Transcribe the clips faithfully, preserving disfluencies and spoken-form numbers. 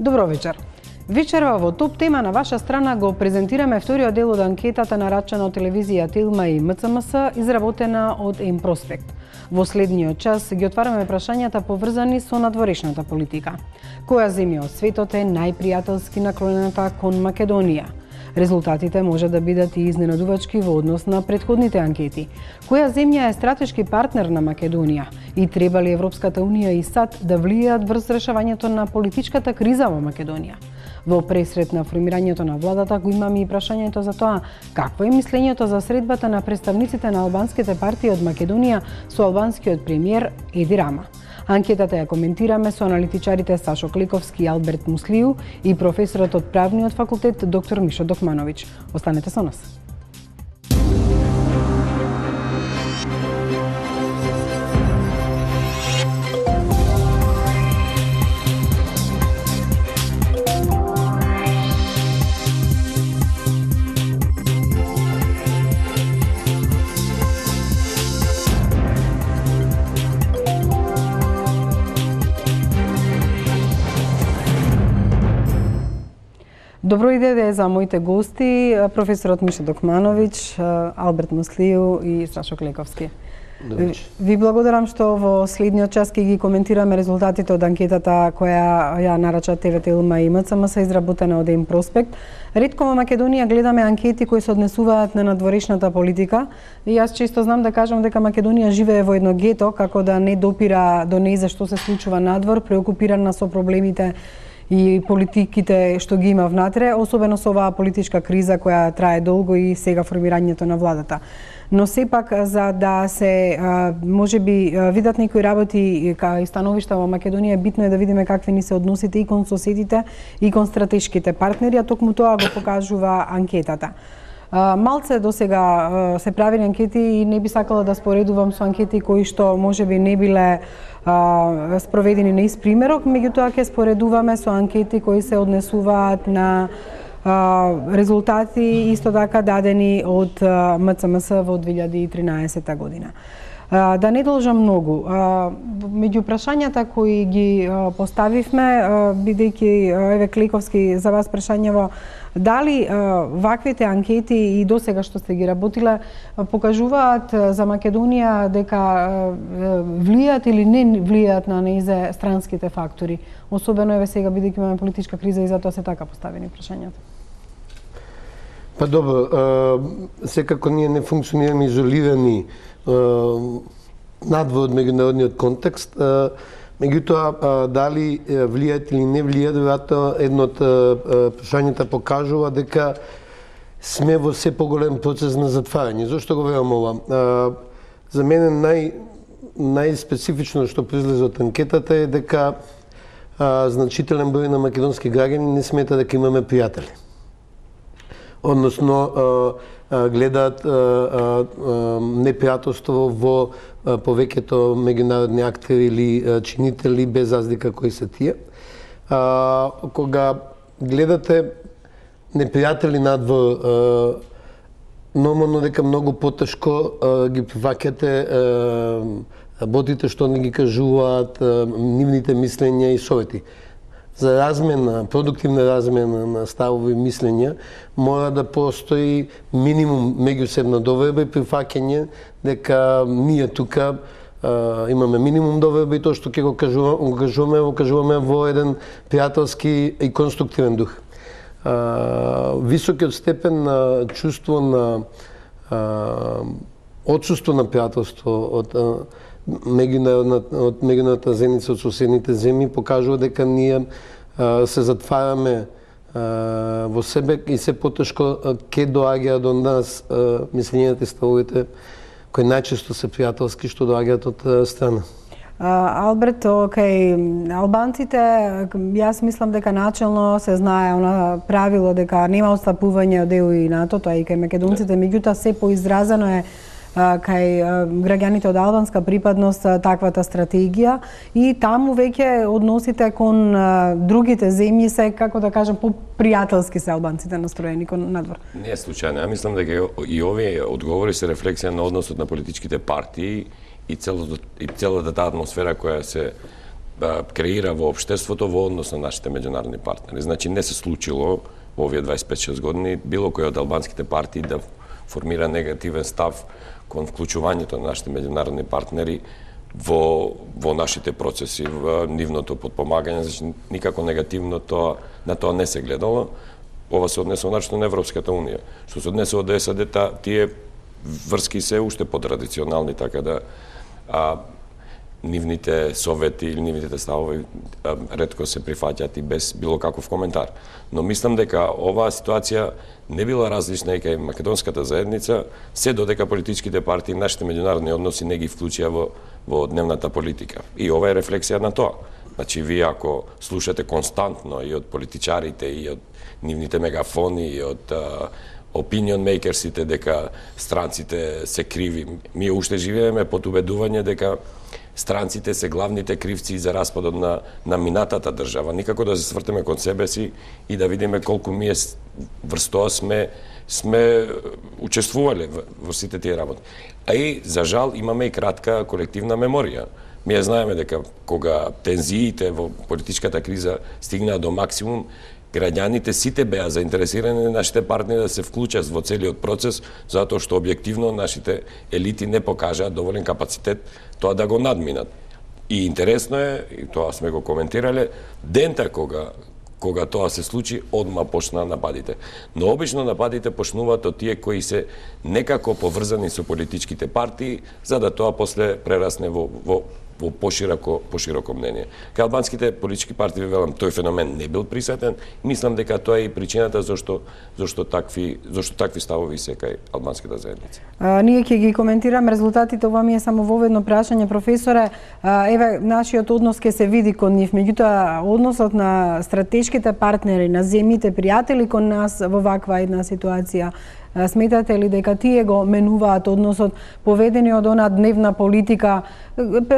Добро вечер. Вечерва во топ тема на ваша страна го презентираме вториот дел од анкетата нарачана од телевизија Телма и М Ц М С, изработена од М-Проспект. Во следниот час ги отвараме прашањата поврзани со надворешната политика. Која земја од светот е најпријателски наклонената кон Македонија? Резултатите може да бидат и изненадувачки во однос на претходните анкети. Која земја е стратешки партнер на Македонија? И треба ли Европската Унија и САД да влијаат врз решавањето на политичката криза во Македонија? Во пресред на формирањето на владата го имаме и прашањето за тоа какво е мислењето за средбата на представниците на албанските партии од Македонија со албанскиот премиер Еди Рама. Анкетата ја коментираме со аналитичарите Сашо Кликовски и Алберт Муслију и професорот од правниот факултет доктор Мишо Докмановиќ. Останете со нас. Добро иде за моите гости, професорот Мишо Докмановиќ, Алберт Муслију и Сашо Кликовски. Ви благодарам што во следниот час ќе ги коментираме резултатите од анкетата која ја нарача Т В Телма и М Ц М С, изработена од М-Проспект. Ретко во Македонија гледаме анкети кои се однесуваат на надворешната политика и јас често знам да кажам дека Македонија живее во едно гето, како да не допира до нејзе што се случува надвор, преокупирана со проблемите и политиките што ги има внатре, особено со оваа политичка криза која трае долго и сега формирањето на владата. Но сепак за да се можеби видат некои работи и становишта во Македонија, битно е да видиме какви ни се односите и кон соседите и кон стратешките партнери, а токму тоа го покажува анкетата. Малце до сега се правени анкети и не би сакала да споредувам со анкети кои што можеби не биле а, спроведени на ист примерок, меѓутоа ќе споредуваме со анкети кои се однесуваат на а, резултати исто така дадени од М Ц М С во две илјади и тринаесета година. А, да не должам многу. А, меѓу прашањата кои ги а, поставивме, бидејќи еве Кликовски за вас прашањево, дали а, ваквите анкети и досега што сте ги работиле покажуваат за Македонија дека а, влијаат или не влијаат на нејзе странските фактори, особено еве сега бидејќи имаме политичка криза и затоа се така поставени прашањата? Па добро, секако ние не функционираме изолирани надвор од меѓународниот контекст. Меѓутоа, дали влијаат или не влијаат, веројатно едно од прашањата покажува дека сме во се поголем процес на затварање. Зошто го верувам ова? За мене нај најспецифично што произлезе од анкетата е дека значителен број на македонски граѓани не смета дека имаме пријатели. Односно, гледаат непријателство во повеќето меѓународни актери или чинители, без разлика кои се тие. Кога гледате непријатели надвор, нормално дека многу потешко ги прифаќате работите што не ги кажуваат, нивните мислења и совети. За размена, продуктивна размена на ставови и мислења, мора да постои минимум меѓусебна доверба и прифаќање дека ние тука а, имаме минимум доверба и тоа што ќе го кажуваме, го кажуваме, го кажуваме во еден пријателски и конструктивен дух. А, високиот степен на чувство на а, отсуство на пријателство од а, меѓународната од меѓународната заедница од соседните земји покажува дека ние а, се затвараме а, во себе и се потешко ќе доаѓа до нас а, мислењата и ставовите кои најчесто се пријателски што доаѓаат од страна. Uh, Алберт, окей, албанците, јас мислам дека начелно се знае она правило дека нема отстапување од Е У и НАТО, тоа и кај македонците, меѓутоа се поизразено е кај граѓаните од албанска припадност таквата стратегија и таму веќе односите кон другите земји се, како да кажам, по-пријателски се албанците настроени кон надвор. Не е случајно. Ја мислам дека и овие одговори се рефлексија на односот на политичките партии и целата, и целата таа атмосфера која се креира во општеството во однос на нашите меѓународни партнери. Значи не се случило во овие дваесет и пет шест години било кој од албанските партии да формира негативен став кон вклучувањето на нашите меѓународни партнери во во нашите процеси, во нивното подпомагање, значи никако негативно тоа на тоа не се гледало. Ова се однесува начто на Европската унија. Што се однесува до САД, тие врски се уште потрадиционални, така да а, нивните совети или нивните ставови а, ретко се прифаќаат и без било каков коментар. Но мислам дека оваа ситуација не била различна и кај македонската заедница, се додека политичките партии, нашите меѓународни односи не ги вклучија во, во дневната политика. И ова е рефлексија на тоа. Значи, вие ако слушате константно и од политичарите, и од нивните мегафони, и од а, opinion makersите дека странците се криви, ние уште живееме под убедување дека странците се главните кривци за распадот на, на минатата држава. Никако да се свртеме кон себе си и да видиме колку ние врз тоа сме, сме учествувале во сите тие работи. А и, за жал, имаме и кратка колективна меморија. Ние знаеме дека кога тензиите во политичката криза стигнаа до максимум, граѓаните сите беа заинтересирани нашите партнери да се вклучат во целиот процес, затоа што објективно нашите елити не покажаат доволен капацитет тоа да го надминат. И интересно е, и тоа сме го коментирале, дента кога кога тоа се случи, одма почнаа нападите. Но обично нападите почнуваат од тие кои се некако поврзани со политичките партии, за да тоа после прерасне во, во во пошироко пошироко мнение. Кај албанските политички партии, велам, тој феномен не бил присутен. Мислам дека тоа е и причината зашто зашто такви зашто такви ставови се кај албанската заедница. А, ние ќе ги коментираме резултатите, ова ми е само воведно прашање, професоре. А, еве, нашиот однос ќе се види кон нив, меѓутоа односот на стратешките партнери, на земјите пријатели кон нас во ваква една ситуација, сметате ли дека тие го менуваат односот, поведени од она дневна политика?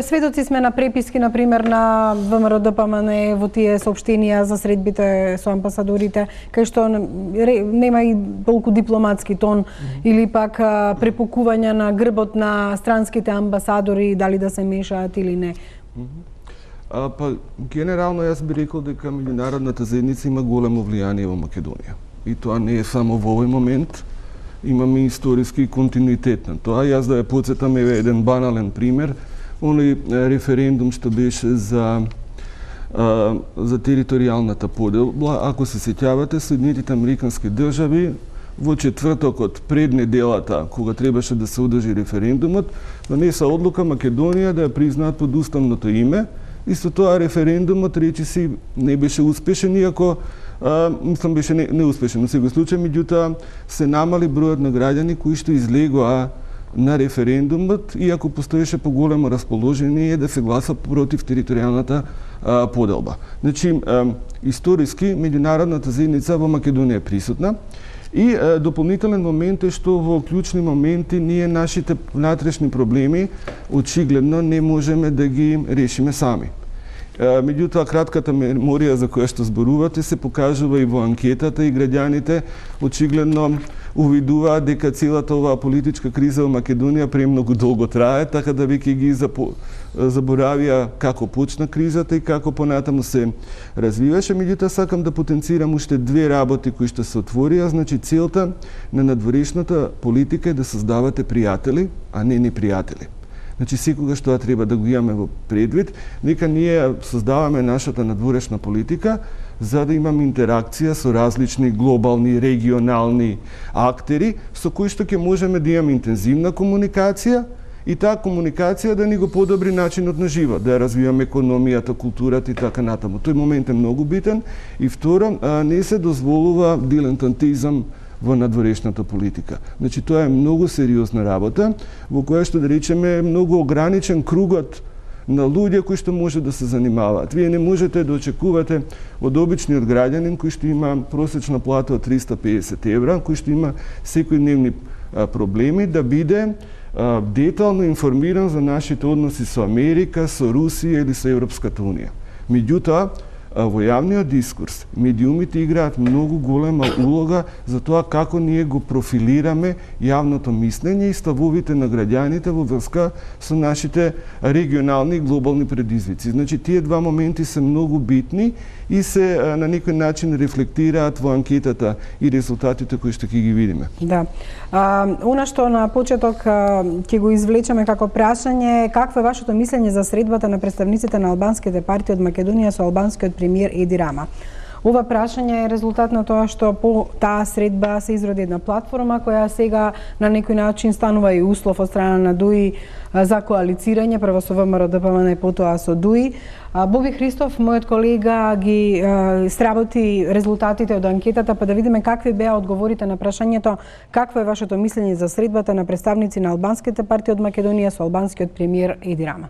Сведоци сме на преписки, например, на ВМРО Д П М Н во тие соопштенија за средбите со амбасадорите, кај што нема и толку дипломатски тон, mm-hmm. или пак препукување на грбот на странските амбасадори, дали да се мешаат или не. Mm-hmm. А, па, генерално, јас би рекол дека меѓународната заедница има големо влијание во Македонија. И тоа не е само во овој момент, имаме историски континуитет на тоа. Јас да ја подсетам еве еден банален пример, оној референдум што беше за а, за територијалната поделба. Ако се сеќавате, Соединетите американски држави во четвртокот пред неделата, кога требаше да се одржи референдумот, донеса одлука Македонија да ја признаат под уставното име. И со тоа референдумот речиси не беше успешен, иако Uh, мислам беше не, неуспешен во секој случај, меѓутоа се намали бројот на граѓани кои што излегоа на референдумот, иако постоеше поголемо расположение да се гласа против територијалната uh, поделба. Значи, uh, историски меѓународната заедница во Македонија е присутна и uh, дополнителен момент е што во клучни моменти ние нашите внатрешни проблеми очигледно не можеме да ги решиме сами. Меѓутоа, кратката меморија за која што зборувате се покажува и во анкетата и граѓаните очигледно увидуваат дека целата оваа политичка криза во Македонија премногу долго трае, така да веќе ги заборавија како почна кризата и како понатаму се развиваше. Меѓутоа, сакам да потенцирам уште две работи кои што се отворија. Значи, целта на надворешната политика е да создавате пријатели, а не непријатели. Значи, секогаш тоа треба да го имаме во предвид, нека ние создаваме нашата надворешна политика за да имаме интеракција со различни глобални, регионални актери, со кои што ќе можеме да имаме интензивна комуникација и таа комуникација да ни го подобри начинот на живот, да ја развиваме економијата, културата и така натаму. Тој момент е многу битен. И второ, не се дозволува дилетантизам во надворешната политика. Значи, тоа е многу сериозна работа, во која што, да речеме, многу ограничен кругот на луѓе кои што може да се занимаваат. Вие не можете да очекувате од обичниот граѓанин кој што има просечна плата од триста и педесет евра, кој што има секојдневни проблеми, да биде а, детално информиран за нашите односи со Америка, со Русија или со Европската унија. Меѓутоа, Во јавниот дискурс, медиумите играат многу голема улога за тоа како ние го профилираме јавното мислење и ставовите на граѓаните во врска со нашите регионални и глобални предизвици. Значи, тие два моменти се многу битни и се на некој начин рефлектираат во анкетата и резултатите кои што ќе ги видиме. Да. А, она што на почеток ќе го извлечеме како прашање, какво е вашето мислење за средбата на представниците на албанските партии од Македонија со албанскиот премиер Еди Рама? Ова прашање е резултат на тоа што по таа средба се изроди една платформа која сега на некој начин станува и услов од страна на ДУИ за коалицирање, прво со ВМРО Д П М Н и потоа со ДУИ. Боби Христов, мојот колега, ги сработи резултатите од анкетата, па да видиме какви беа одговорите на прашањето какво е вашето мислење за средбата на представници на албанските партии од Македонија со албанскиот премиер Еди Рама.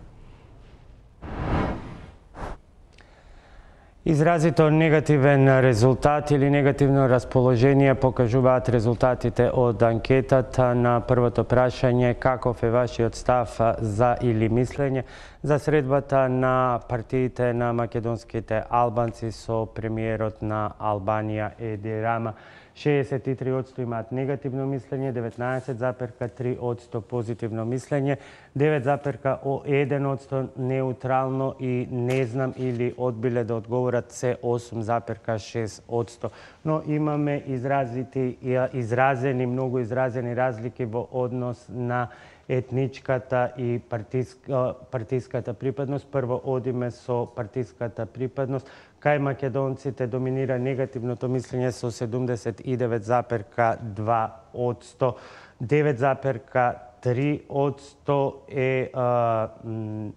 Изразито негативен резултат или негативно расположение покажуваат резултатите од анкетата на првото прашање каков е вашиот став за или мислење за средбата на партиите на македонските албанци со премиерот на Албанија Еди Рама. шеесет и три одсто имаат негативно мислење, деветнаесет запир три одсто позитивно мислење, девет запир еден одсто неутрално и не знам или одбиле да одговорат се осум запир шест одсто. Но имаме изразити, изразени, многу изразени разлики во однос на етничката и партиска, партиската припадност. Прво одиме со партиската припадност. Кај македонците доминира негативното мислење со седумдесет и девет запир два одсто, девет запир три одсто е а,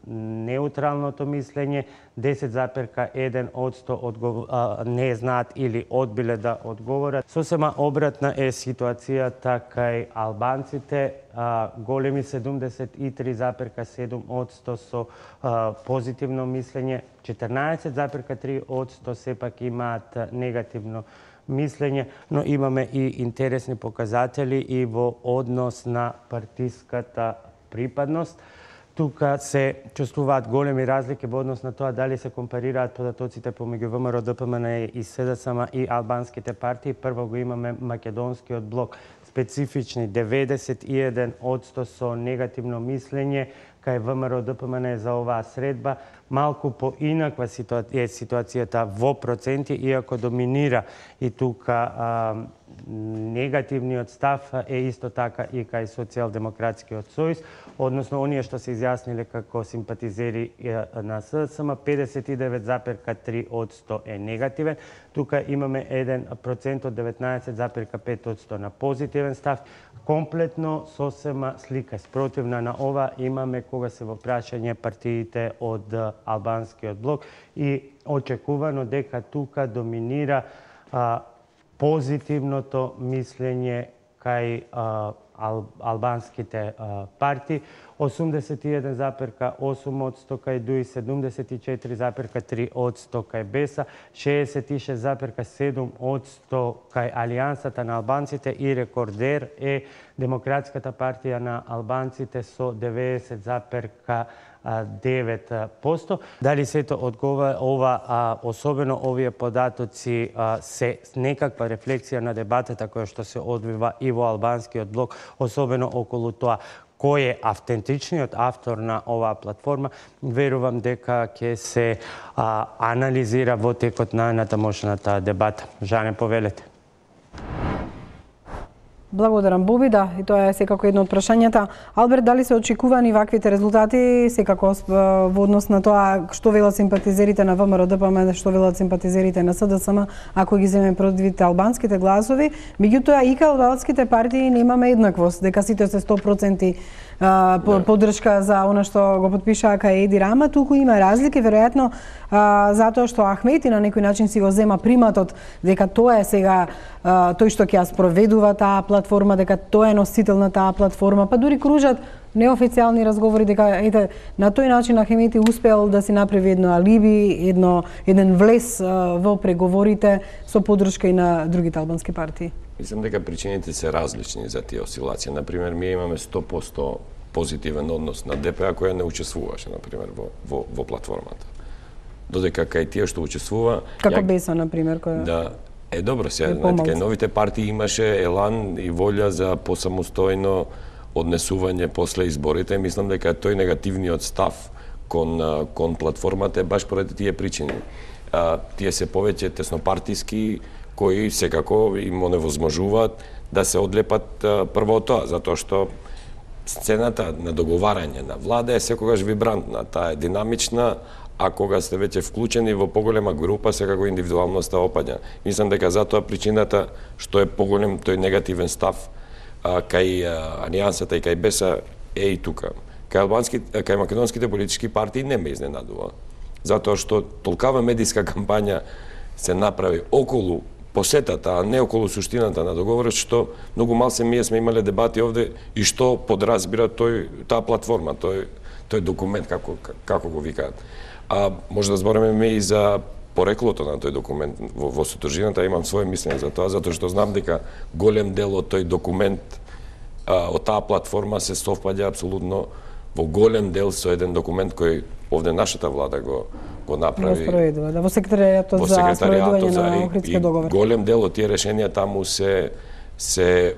неутралното мислење, десет запир еден одсто одгов... а, не знаат или одбиле да одговорат. Сосема обратна е ситуацијата кај албанците, а, големи седумдесет и три запир седум одсто со а, позитивно мислење, четрнаесет запир три одсто сепак имаат негативно мислење, но имаме и интересни показатели и во однос на партиската припадност. Тука се чувствуваат големи разлики во однос на тоа дали се компарираат податоците помеѓу ВМРО Д П М Н и С Д С М и албанските партии. Прво го имаме македонскиот блок, специфични деветдесет и еден одсто со негативно мислење, кај ВМРО Д П М Н за оваа средба. Малку поинаква е ситуацијата во проценти, иако доминира и тука а, негативниот став е исто така и кај Социјалдемократскиот сојуз, односно оние што се изјасниле како симпатизери на С Д С М, педесет и девет запир три одсто е негативен. Тука имаме еден процент од деветнаесет запир пет одсто на позитивен став. Комплетно сосема слика спротивна на ова имаме кога се во прашање партиите од албанскиот блок и очекувано дека тука доминира а, позитивното мислење кај а, ал, албанските а, партии. осумдесет и еден запир осум одсто кај ДУИ, седумдесет и четири запир три одсто кај Беса, шеесет и шест запир седум одсто кај Алијансата на албанците и рекордер е Демократската партија на албанците со деветдесет запир девет одсто. Дали сето одговара ова, а, особено овие податоци а, се некаква рефлексија на дебатата која што се одвива и во албанскиот блок, особено околу тоа кој е автентичниот автор на оваа платформа, верувам дека ќе се а, анализира во текот на натамошната дебата. Жане, повелете. Благодарам, Боби, да, и тоа е секако едно од прашањата. Алберт, дали се очекувани ваквите резултати, секако во однос на тоа што велат симпатизерите на ВМРО Д П М, што велат симпатизерите на С Д С М, ако ги земеме предвид албанските гласови, меѓутоа и кај албанските партии немаме еднаквост, дека сите се сто проценти поддршка за она што го потпишаа кај Еди Рама. Туку има разлики, веројатно затоа што Ахмети на некој начин си го зема приматот дека тоа е сега тој што ќе ја спроведува таа платформа, дека тоа е носител на таа платформа, па дури кружат неофицијални разговори дека ете на тој начин Ахмети успел да си направи едно алиби, едно еден влез во преговорите со поддршка и на другите албански партии. Мислам дека причините се различни за тие осцилации. Например, ние имаме сто проценти позитивен однос на Д П А која не учествуваше, например, во, во, во платформата. додека кај тие што учествува... Како ја... Беса, например, која... Да, е добро сега, знаете, кај новите партии имаше елан и волја за посамостојно однесување после изборите. Мислам дека тој негативниот став кон, кон платформата е баш поради тие причини. А, тие се повеќе теснопартиски, кои секако им оневозможуваат да се одлепат а, прво од тоа, затоа што сцената на договарање на влада е секогаш вибрантна, таа е динамична, а кога сте веќе вклучени во поголема група, секако индивидуалноста опаѓа. Мислам дека затоа причината што е поголем тој негативен став а, кај а, Алијансата и кај Беса е и тука. Кај албански, кај македонските политички партии не ме изненадува, затоа што толкава медиска кампања се направи околу посетата, а не околу суштината на договорот, што многу мал се ние сме имале дебати овде и што подразбира тој таа платформа, тој тој документ како како го викаат. А може да збориме и за пореклото на тој документ во, во содржината, имам свое мислење за тоа, затоа што знам дека голем дел од тој документ а, од таа платформа се совпаѓа апсолутно во голем дел со еден документ кој овде нашата влада го го направи. Во да, во секретаријатот за спроведување на Охридскиот договор. Голем дел од тие решенија таму се се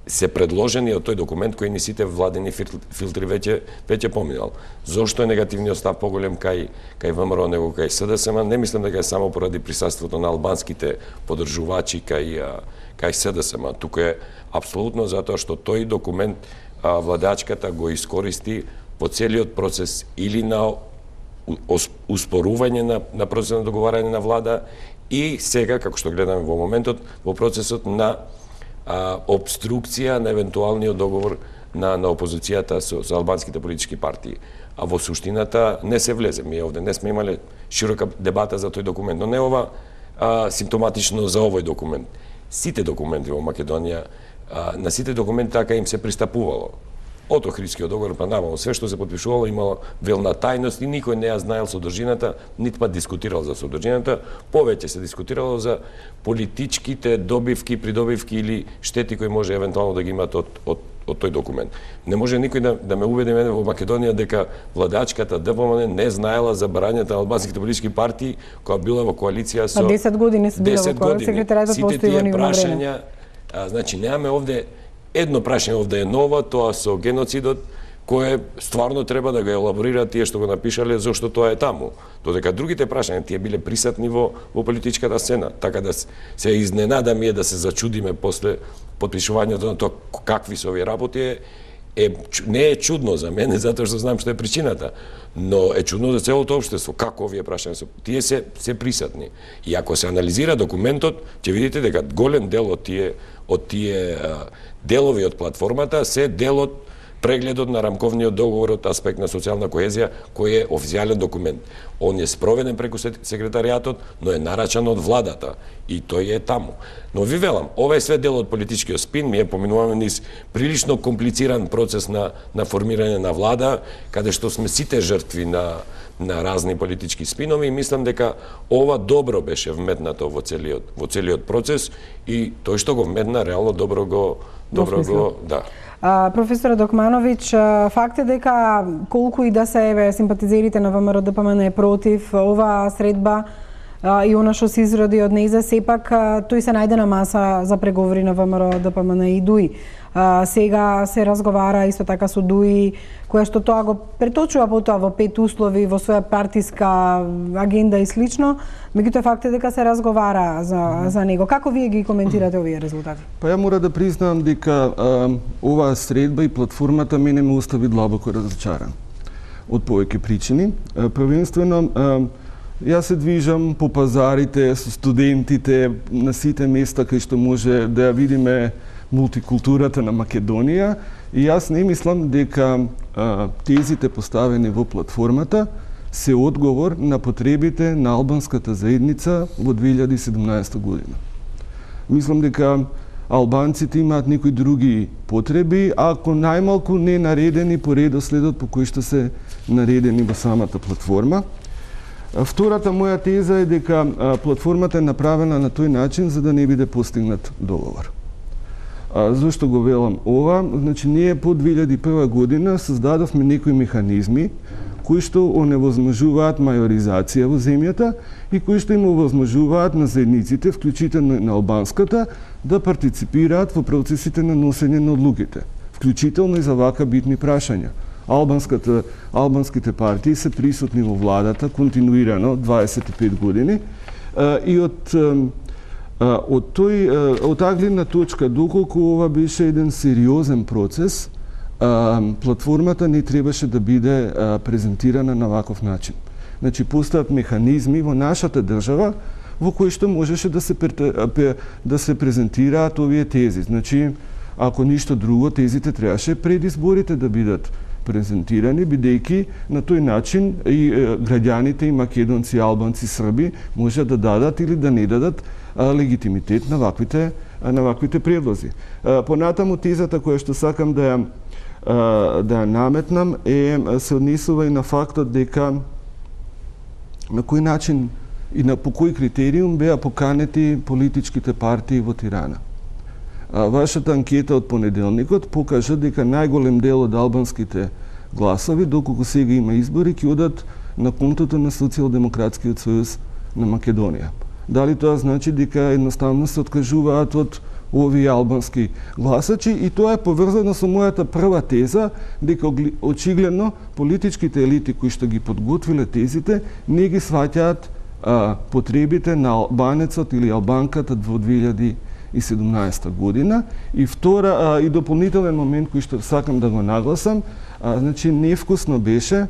се предложени од тој документ кој ни сите владени филтри веќе веќе поминал. Зошто е негативниот став поголем кај кај ВМРО него кај СДСМ? Не мислам дека е само поради присуството на албанските поддржувачи кај кај СДСМ. Тука е апсолутно затоа што тој документ а, владачката го искористи во целиот процес или на успорување на, на процесот на договарање на влада и сега, како што гледаме во моментот, во процесот на а, обструкција на евентуалниот договор на, на опозицијата со, со албанските политички партии. А во суштината не се влезе. Ми овде не сме имале широка дебата за тој документ, но не ова а, симптоматично за овој документ. Сите документи во Македонија, а, на сите документи така им се пристапувало. Од Охридскиот договор па наваму, све што се потпишувало имало велна тајност и никој не ја знаел содржината, нит па дискутирал за содржината, повеќе се дискутирало за политичките добивки, придобивки или штети кои може евентуално да ги имат од, од, од тој документ. Не може никој да, да ме убеди мене во Македонија дека владачката ДПМН не знаела за барањето на албанските политички партии која била во коалиција со... А десет години се била во коалиција, секретаријатот постои во нивно време. А, значи, немаме овде едно прашање овде е ново, тоа со геноцидот, кое стварно треба да го елаборираат тие што го напишале, зашто тоа е таму. Додека другите прашања тие биле присатни во, во политичката сцена. Така да се изненада ми е да се зачудиме после потпишувањето на тоа какви се овие работи е, е, не е чудно за мене, затоа што знам што е причината, но е чудно за целото општество. Како овие прашања се, тие се, се присатни. И ако се анализира документот, ќе видите дека голем дел од тие, од тие делови од платформата се дел од прегледот на рамковниот договор од аспект на социјална коезија, кој е официјален документ. Он е спроведен преку секретаријатот, но е нарачан од владата и тој е таму. Но ви велам, ова е све дел од политичкиот спин, ми е поминуваме низ прилично комплициран процес на, на формирање на влада, каде што сме сите жртви на, на разни политички спинови и мислам дека ова добро беше вметнато во целиот, во целиот процес и тој што го вметна реално добро го, добро го, да. А, професор Докмановиќ, факт е дека колку и да се еве симпатизерите на ВМРО Д П М Н е против оваа средба а, и она што се изроди од нејза, сепак а, тој се најде на маса за преговори на ВМРО Д П М Н и ДУИ. А, сега се разговара исто така со ДУИ, која што тоа го преточува потоа во пет услови, во своја партиска агенда и слично, меѓутоа факт е дека се разговара за, за него. Како вие ги коментирате овие резултати? Па ја мора да признам дека а, оваа средба и платформата мене ме остави длабоко разочаран. Од повеќе причини. А, првенствено, а, јас се движам по пазарите со студентите на сите места кај што може да ја видиме мултикултурата на Македонија и јас не мислам дека а, тезите поставени во платформата се одговор на потребите на албанската заедница во две илјади и седумнаесета година. Мислам дека албанците имаат некои други потреби, ако најмалку не наредени по редоследот по кој што се наредени во самата платформа. Втората моја теза е дека а, платформата е направена на тој начин за да не биде постигнат договор. А, зошто го велам ова? Значи, ние по две илјади и прва година создадовме некои механизми кои што оневозможуваат мајоризација во земјата и кои што им овозможуваат на заедниците, вклучително на албанската, да партиципираат во процесите на носење на одлуките, вклучително и за вака битни прашања. Албанската, албанските партии се присутни во владата континуирано дваесет и пет години и од од тој од таа гледна точка, доколку ова беше еден сериозен процес, платформата не требаше да биде презентирана на ваков начин. Значи, постојат механизми во нашата држава во кои што можеше да се да се презентираат овие тези. Значи, ако ништо друго, тезите требаше пред изборите да бидат презентирани, бидејќи на тој начин и граѓаните, и македонци, албанци, срби може да дадат или да не дадат легитимитет на ваквите на ваквите предлози. Понатаму тезата која што сакам да ја да ја наметнам е се однесува и на фактот дека на кој начин и на по кој критериум беа поканети политичките партии во Тирана. Вашата анкета од понеделникот покажа дека најголем дел од албанските гласови, доколку сега има избори, ќе одат на контото на Социјалдемократскиот сојуз на Македонија. Дали тоа значи дека едноставно се откажуваат од овие албански гласачи, и тоа е поврзано со мојата прва теза дека очигледно политичките елити кои што ги подготвиле тезите не ги сваќаат потребите на албанецот или албанката во две илјади и седумнаесета година. И втора а, и дополнителен момент кој што сакам да го нагласам, а, значи невкусно беше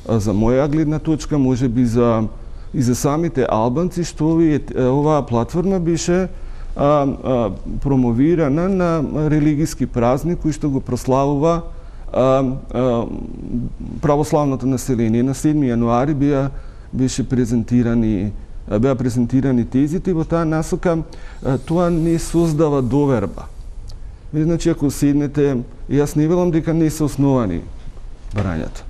а, за моја гледна точка, можеби за и за самите албанци, што овие, оваа платформа беше а, а, промовирана на религиски празник кој што го прославува а, а, православното население. На седми јануари беа беше презентирани беа презентирани тезите и во таа насока тоа не создава доверба. Значи, ако седнете, јас не велам дека не се основани барањата.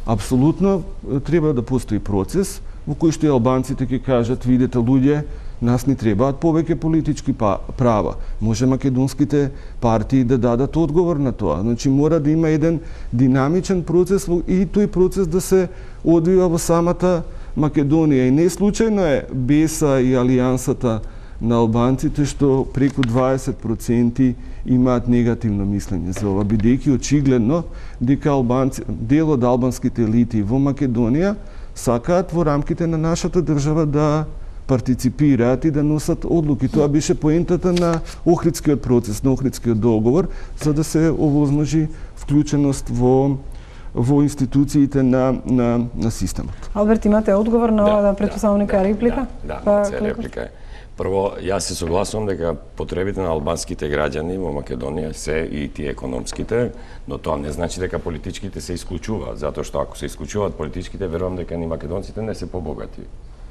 Апсолутно треба да постои процес во кој што и албанците ќе кажат, видете луѓе, нас ни требаат повеќе политички права. Може македонските партии да дадат одговор на тоа. Значи, мора да има еден динамичен процес и тој процес да се одвива во самата Македонија. И не случајно е Беса и Алијансата на албанците што преку дваесет проценти имаат негативно мислење за ова, бидејќи очигледно дека албанци, дел од албанските елити во Македонија сакаат во рамките на нашата држава да партиципираат и да носат одлуки. Тоа беше поентата на Охридскиот процес, на Охридскиот договор, за да се овозможи вклученост во во институциите на на на системот. Алберт, имате одговор на оваа да, претпоставника да, реплика? Да, да, да реплика е. Прво, јас се согласувам дека потребите на албанските граѓани во Македонија се и тие економските, но тоа не значи дека политичките се исклучуваат, затоа што ако се исклучуваат политичките, верувам дека ни македонците не се побогати.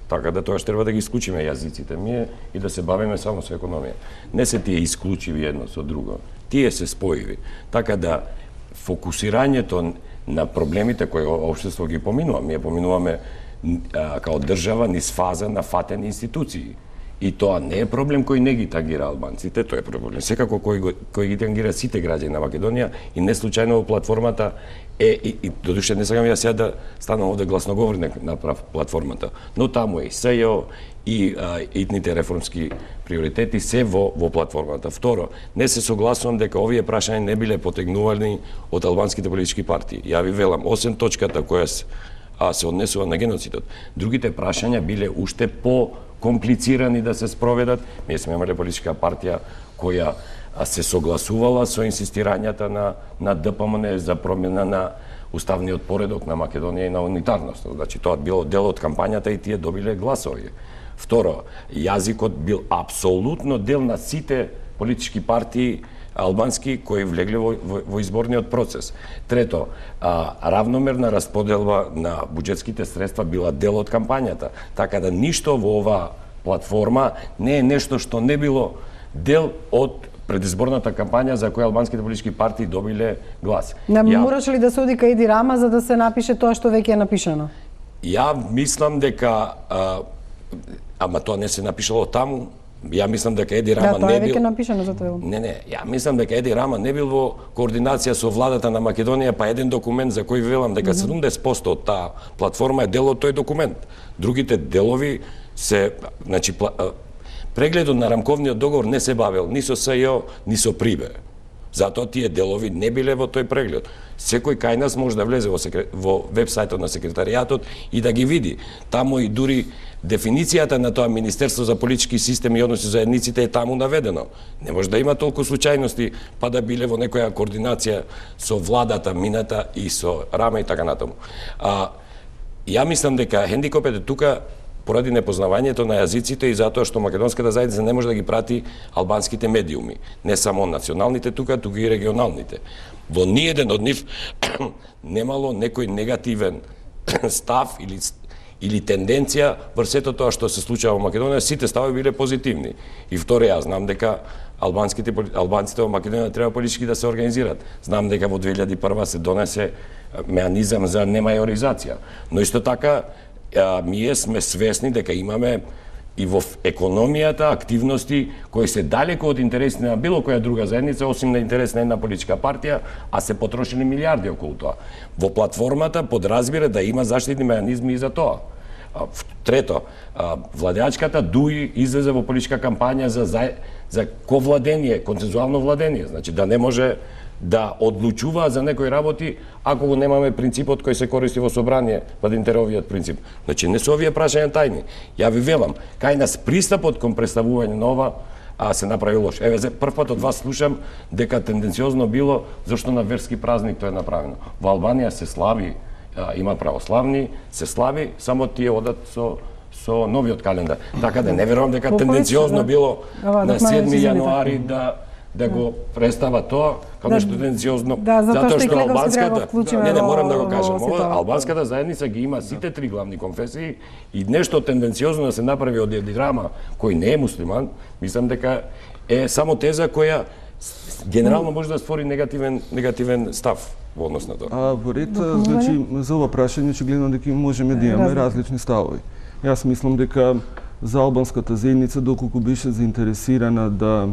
Така да тоа што треба да ги исклучиме јазиците ми и да се бавиме само со економија. Не се тие исклучиви едно со друго, тие се споиви. Така да фокусирањето на проблемите кои општество ги поминува, ние поминуваме а, као држава низ фаза на фатени институции. И тоа не е проблем кој не ги тангира албанците, тоа е проблем секако кој, кој ги тангира сите граѓани на Македонија, и не случајно во платформата е, и, и додуше не сакам јас сега да станам овде гласноговорник на платформата, но таму е и СЈО и а, итните реформски приоритети се во, во платформата. Второ, не се согласувам дека овие прашања не биле потегнувани од албанските политички партии. Ја ви велам, осем точката која се, а, се однесува на геноцидот, другите прашања биле уште по комплицирани да се спроведат. Ние сме имале политичка партија која се согласувала со инсистирањата на, на ДПМН за промена на уставниот поредок на Македонија и на унитарност. Значи, тоа било дел од кампањата и тие добиле гласови. Второ, јазикот бил апсолутно дел на сите политички партии албански кои влегле во, во, во изборниот процес. Трето, а, равномерна расподелба на буџетските средства била дел од кампањата, така да ништо во оваа платформа не е нешто што не било дел од предизборната кампања за која албанските политички партии добиле глас. Не Ја... мораше ли да се оди кај Еди Рама за да се напише тоа што веќе е напишано? Ја мислам дека а, ама тоа не се напишало таму Ја мислам дека Еди Рама да, не бил... Да, тоа е веќе напишано за тоа. Не, не, ја мислам дека Еди Рама не бил во координација со владата на Македонија, па еден документ за кој велам дека седумдесет проценти од таа платформа е дел од тој документ. Другите делови се, значи, прегледот на рамковниот договор не се бавел ни со СЈО, ни со Прибе. Затоа тие делови не биле во тој преглед. Секој кај нас може да влезе во, секре... во вебсајтот на секретаријатот и да ги види. Таму и дури дефиницијата на тоа Министерство за политички системи и односи заедниците е таму наведено. Не може да има толку случајности па да биле во некоја координација со владата мината и со Рама и така натаму. А, ја мислам дека хендикопът е тука поради непознавањето на јазиците и затоа што македонската заедница не може да ги прати албанските медиуми, не само националните тука, туку и регионалните. Во ниеден од нив немало некој негативен став или или тенденција врз сето тоа што се случува во Македонија, сите стави биле позитивни. И второ, јас знам дека албанските албанците во Македонија треба политички да се организираат. Знам дека во две илјади и прва се донесе меанизам за немајоризација, но исто така а, ние сме свесни дека имаме и во економијата активности кои се далеко од интересите на било која друга заедница, осим на интерес на една политичка партија, а се потрошени милиарди околу тоа. Во платформата подразбира да има заштитни меанизми и за тоа. Трето, владеачката ДУИ излезе во политичка кампања за, за, за ковладение, консензуално владение, значи да не може да одлучува за некои работи ако го немаме принципот кој се користи во собрание, владинтеровиот принцип. Значи не се овие прашања тајни. Ја ви велам, кај нас пристапот кон представување на ова а се направи лош. Еве, за прв пат од вас слушам дека тенденциозно било зашто на верски празник тоа е направено. Во Албанија се слави, а, има православни, се слави, само тие одат со со новиот календар. Така да не верувам дека тенденциозно било на седми јануари да да го представа тоа како да, нешто тенденциозно, да, затоа, затоа што албанската да не, не морам да го кажам, ова албанската заедница ги има сите три главни конфесии и нешто тенденциозно да се направи од Еди Рама кој не е муслиман, мислам дека е само теза која генерално може да створи негативен негативен став во однос на тоа. А во ред, значи за ова прашање очигледно дека можеме да имаме различни ставови. Јас мислам дека за албанската заедница доколку беше заинтересирана да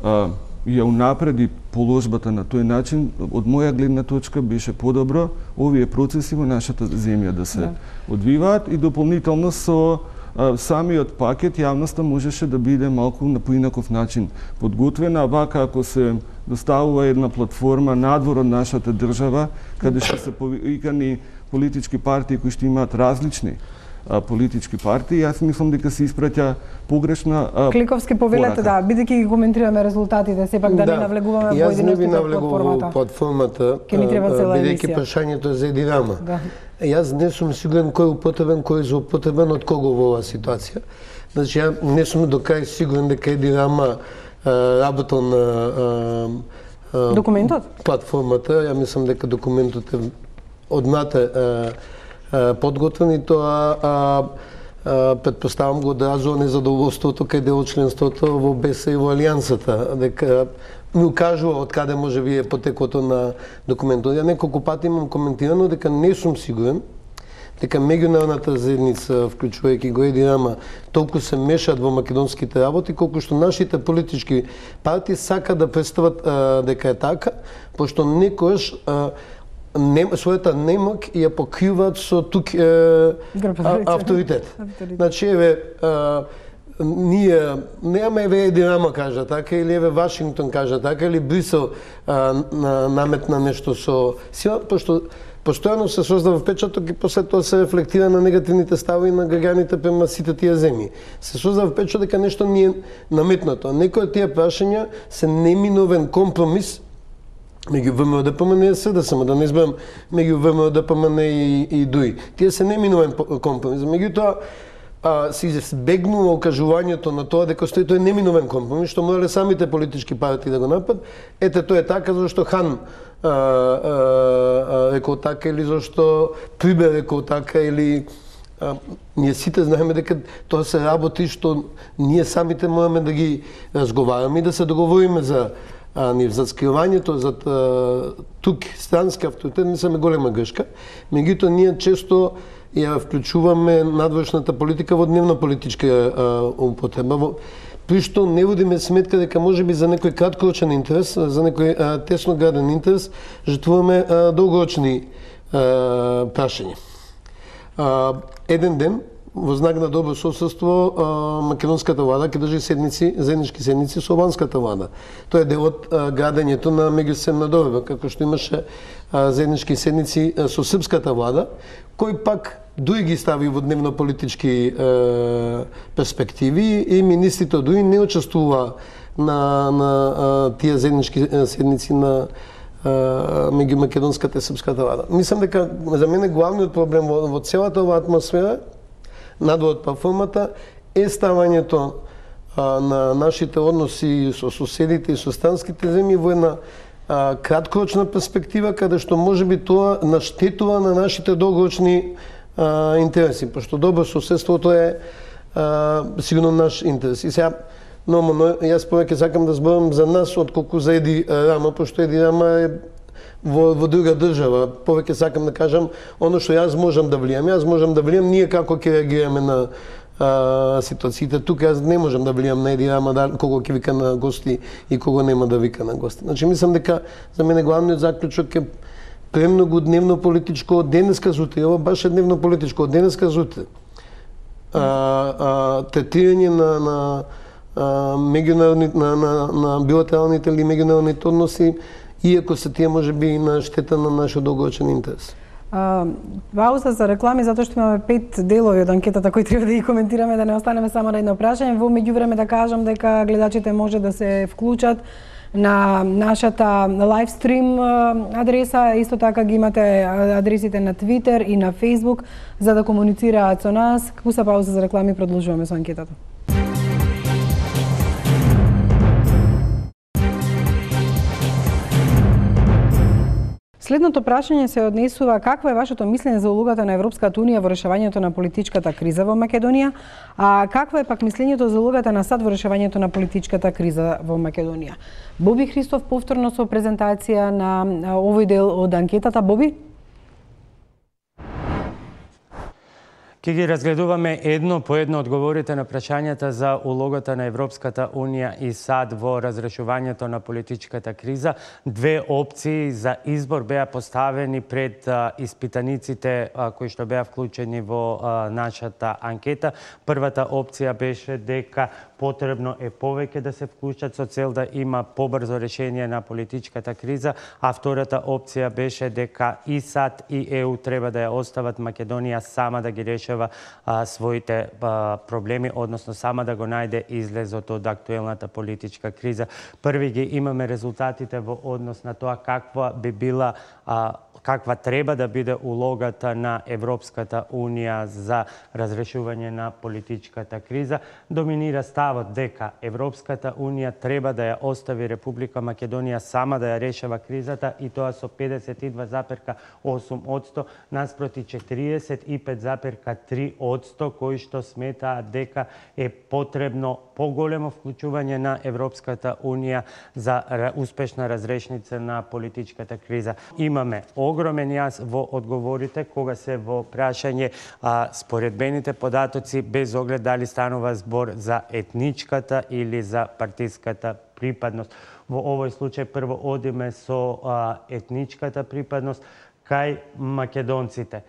а, ја унапреди положбата на тој начин, од моја гледна точка беше подобро овие процеси во нашата земја да се да. одвиваат и дополнително со а, самиот пакет јавноста можеше да биде малку на поинаков начин подготвена, вака ако се доставува една платформа надвор од нашата држава, каде што се повикани политички партии кои што имаат различни а, политички партии, јас мислам дека се испраќа погрешна а, Кликовски повелете, да, бидејќи ги коментираме резултатите, сепак да, да не навлегуваме во поединечните платформата. платформата, бидејќи прашањето за Еди Рама. Да. Јас не сум сигурен кој е употребен, кој е злоупотребен од кого во оваа ситуација. Значи, ја не сум до крај сигурен дека Еди Рама работел на документот? Платформата. Ја мислам дека документот е одната подготвен и тоа а, а, предпоставам го одразува незадоволството кај дел од членството во БЕС и во Алијансата, дека ми укажува од каде може би е потекото на документот. Ја неколку пати имам коментирано дека не сум сигурен дека меѓународната заедница, вклучувајќи го Еди Рама, толку се мешаат во македонските работи, колку што нашите политички партии сакаат да представат а, дека е така, пошто некојаш а, не, својата немок ја покриваат со тук е, а, авторитет. Значи, еве, а, ние немаме еве Еди Рама кажа така, или еве Вашингтон кажа така, или Брисел а, на, наметна нешто со сила, пошто постојано се создава впечаток и после тоа се рефлектира на негативните ставови на граѓаните према сите тие земји. Се создава впечаток дека нешто ни е наметнато. Некои од тие прашања се неминовен компромис меѓу ВМРО-ДПМН и СДСМ, само да не изберам меѓу ВМРО-ДПМН и, и ДУИ. Тие се неминовен компромис. Меѓутоа, а, се избегнува окажувањето на тоа дека стои тој неминовен компромис, што морале самите политички партии да го напад. Ете, тоа е така зашто Хан а, а, а, рекол така, или зашто Прибе рекол така, или а, ние сите знаеме дека тоа се работи што ние самите мораме да ги разговараме и да се договориме за а, нив. За скривањето, за тук странски авторитет не сме голема грешка. Меѓутоа, ние често ја вклучуваме надворешната политика во дневно политичка употреба. при што не водиме сметка дека можеби за некој краткорочен интерес, за некој а, тесно граден интерес, жртвуваме а, долгорочни а, прашања. А, еден ден, во знак на добро соседство, македонската влада ќе држи седници, заеднички седници со албанската влада. Тоа е дел од градењето на меѓусистемна доверба, како што имаше а, заеднички седници а, со српската влада, кој пак дуи ги стави во дневно-политички е, перспективи и министрите дуи не учествува на, на а, тие заеднички седници на меѓу македонската и српската влада. Мислам дека за мене главниот проблем во, во целата оваа атмосфера, надвор од платформата, е ставањето а, на нашите односи со соседите и со странските земји во една а, краткорочна перспектива, каде што можеби тоа наштетува на нашите долгорочни а, интереси, пошто добро соседството е а, сигурно наш интерес. И сега, но, но јас повеќе сакам да зборам за нас, отколку за Еди Рама, пошто Еди Рама е во, во друга држава. Повеќе сакам да кажам оно што јас можам да влијам. Јас можам да влијам ние како ќе реагираме на а, ситуациите. Тука јас не можам да влијам на Еди Рама, да, кого ќе вика на гости и кого нема да вика на гости. Значи, мислам дека за мене главниот заклучок е премногу дневно политичко од денеска зутре. Ова баш е дневно политичко од денеска зутре. А, а, третирање на, на меѓународни на, на, на билатералните или меѓународните односи, иако се тие може би на штета на нашиот долгорочен интерес. А, пауза за реклами, затоа што имаме пет делови од анкетата кои треба да ги коментираме, да не останеме само на едно прашање. Во меѓувреме да кажам дека гледачите може да се вклучат на нашата лайвстрим адреса, исто така ги имате адресите на Твитер и на Фейсбук за да комуницираат со нас. Куса пауза за реклами, продолжуваме со анкетата. Следното прашање се однесува какво е вашето мислење за улогата на Европската унија во решавањето на политичката криза во Македонија, а какво е пак мислењето за улогата на САД во решавањето на политичката криза во Македонија? Боби Христов повторно со презентација на овој дел од анкетата. Боби? Ке ги разгледуваме едно по едно одговорите на прашањата за улогата на Европската унија и САД во разрешувањето на политичката криза. Две опции за избор беа поставени пред а, испитаниците а, кои што беа вклучени во а, нашата анкета. Првата опција беше дека потребно е повеќе да се вклучат со цел да има побрзо решение на политичката криза, а втората опција беше дека и САД и ЕУ треба да ја остават Македонија сама да ги решава а, своите а, проблеми, односно сама да го најде излезот од актуелната политичка криза. Први ги имаме резултатите во однос на тоа каква би била а, каква треба да биде улогата на Европската унија за разрешување на политичката криза. Доминира ставот дека Европската унија треба да ја остави Република Македонија сама да ја решава кризата, и тоа со педесет и два запирка осум одсто наспроти четириесет и пет запирка три одсто кои што сметаат дека е потребно поголемо вклучување на Европската унија за успешна разрешница на политичката криза. Имаме огромен јас во одговорите кога се во прашање а, споредбените податоци без оглед дали станува збор за етничката или за партиската припадност. Во овој случај прво одиме со а, етничката припадност кај македонците.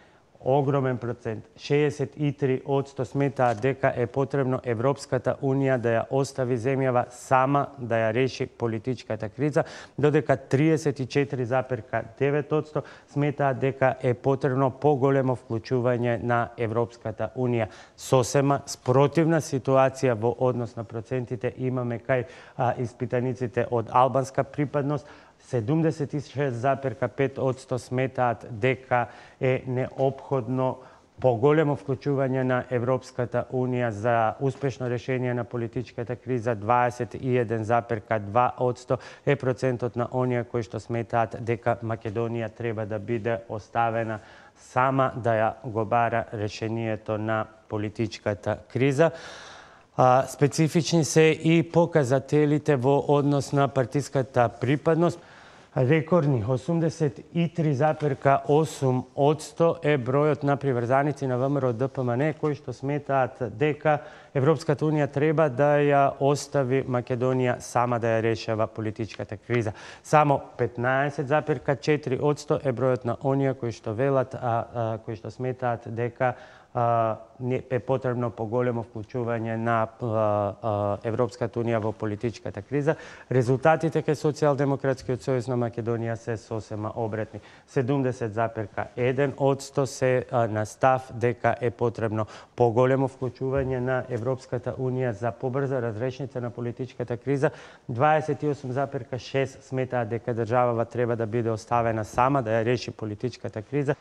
Огромен процент, шеесет и три одсто сметаат дека е потребно Европската унија да ја остави земјава сама да ја реши политичката криза, додека триесет и четири запирка девет одсто сметаат дека е потребно поголемо вклучување на Европската унија. Сосема спротивна ситуација во однос на процентите имаме кај а, испитаниците од албанска припадност. седумдесет и шест запирка пет одсто сметаат дека е неопходно поголемо вклучување на Европската унија за успешно решение на политичката криза. дваесет и еден запирка два одсто е процентот на оние кои што сметаат дека Македонија треба да биде оставена сама да ја го бара решението на политичката криза. А, специфични се и показателите во однос на партиската припадност. Рекордни осумдесет и три запирка осум одсто е бројот на приврзаници на ВМРО Д П М Н кои што сметаат дека Европската унија треба да ја остави Македонија сама да ја решава политичката криза. Само петнаесет запирка четири одсто е бројот на оние кои што велат, а, а кои што сметаат дека е потребно поголемо вклучување на Европската унија во политичката криза. Резултатите кај Социјалдемократскиот сојуз на Македонија се сосема обратни. седумдесет запирка еден одсто се на став дека е потребно поголемо вклучување на Европската унија за побрза разрешница на политичката криза. дваесет и осум запирка шест сметаат дека државава треба да биде оставена сама да ја реши политичката криза.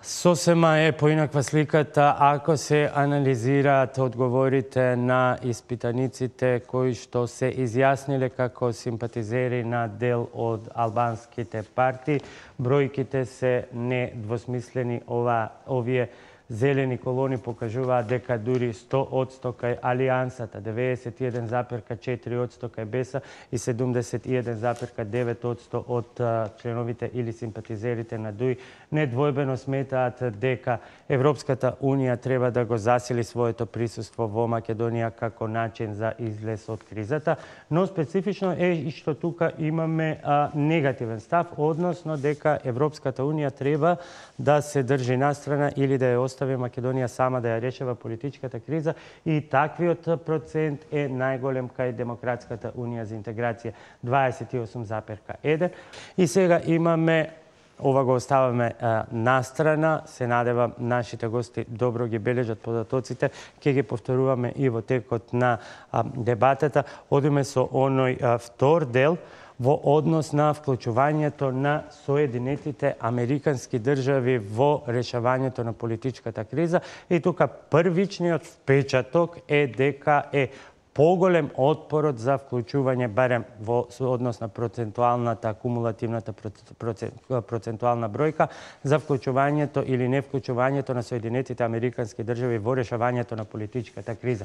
Сосема е поинаква сликата ако се анализираат одговорите на испитаниците кои што се изјасниле како симпатизери на дел од албанските партии. Бројките се недвосмислени. Ова, овие зелени колони покажуваат дека дури сто одсто кај Алијансата, деветдесет и еден запирка четири одсто кај Беса и седумдесет и еден запирка девет одсто од членовите или симпатизерите на ДУИ недвојбено сметаат дека Европската унија треба да го засили своето присуство во Македонија како начин за излез од кризата, но специфично е и што тука имаме а, негативен став, односно дека Европската унија треба да се држи настрана или да ја остави Македонија сама да ја решава политичката криза и таквиот процент е најголем кај Демократската унија за интеграција дваесет и осум запирка еден. И сега имаме, ова го оставаме а, настрана, се надевам нашите гости добро ги бележат податоците, ќе ги повторуваме и во текот на а, дебатата. Одиме со оној а, втор дел во однос на вклучувањето на Соединетите Американски држави во решавањето на политичката криза. И тука првичниот впечаток е дека е поголем отпорот за вклучување, барем во однос на процентуалната, кумулативната процентуална бројка, за вклучувањето или не вклучувањето на Соединетите Американски држави во решавањето на политичката криза.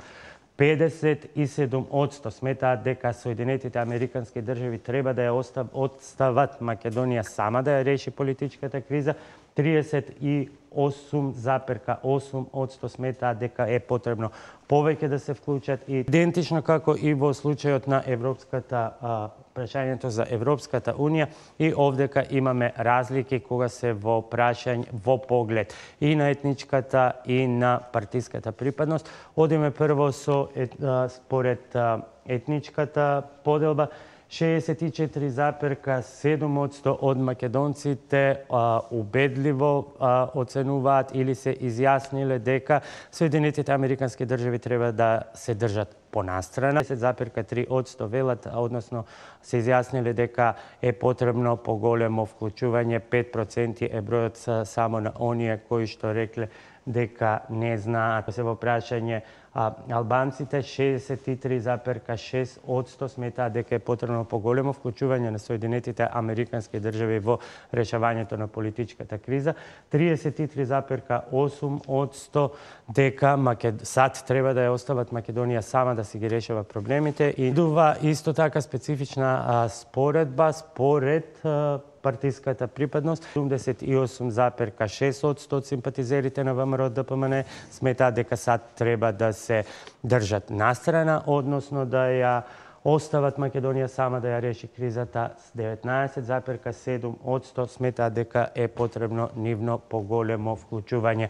педесет и седум одсто сметаат дека Соединетите Американски држави треба да ја остават Македонија сама да ја реши политичката криза. триесет и осум запирка осум одсто сметаат дека е потребно повеќе да се вклучат и идентично како и во случајот на Европската а, прашањето за Европската унија и овдека имаме разлики кога се во прашање во поглед и на етничката и на партиската припадност. Одиме прво со ет, а, според а, етничката поделба. шеесет и четири запирка седум одсто од македонците а, убедливо а, оценуваат или се изјасниле дека Соединетите Американски држави треба да се држат понастрана. десет запирка три одсто велат, односно се изјасниле дека е потребно поголемо вклучување, пет проценти е бројот само на оние кои што рекле дека не знаат. Се во прашање а, албанците, шеесет и три запирка шест одсто сметаат дека е потребно поголемо вклучување на Соединетите Американски држави во решавањето на политичката криза, триесет и три запирка осум одсто дека Макед... САД треба да ја остават Македонија сама да си ги решава проблемите и дува исто така специфична а, споредба според а, партиската припадност. седумдесет и осум запирка шест одсто од симпатизерите на ВМРО Д П М Н сметаат дека САД треба да се држат настрана, односно да ја остават Македонија сама да ја реши кризата. деветнаесет запирка седум одсто сметаат дека е потребно нивно поголемо вклучување.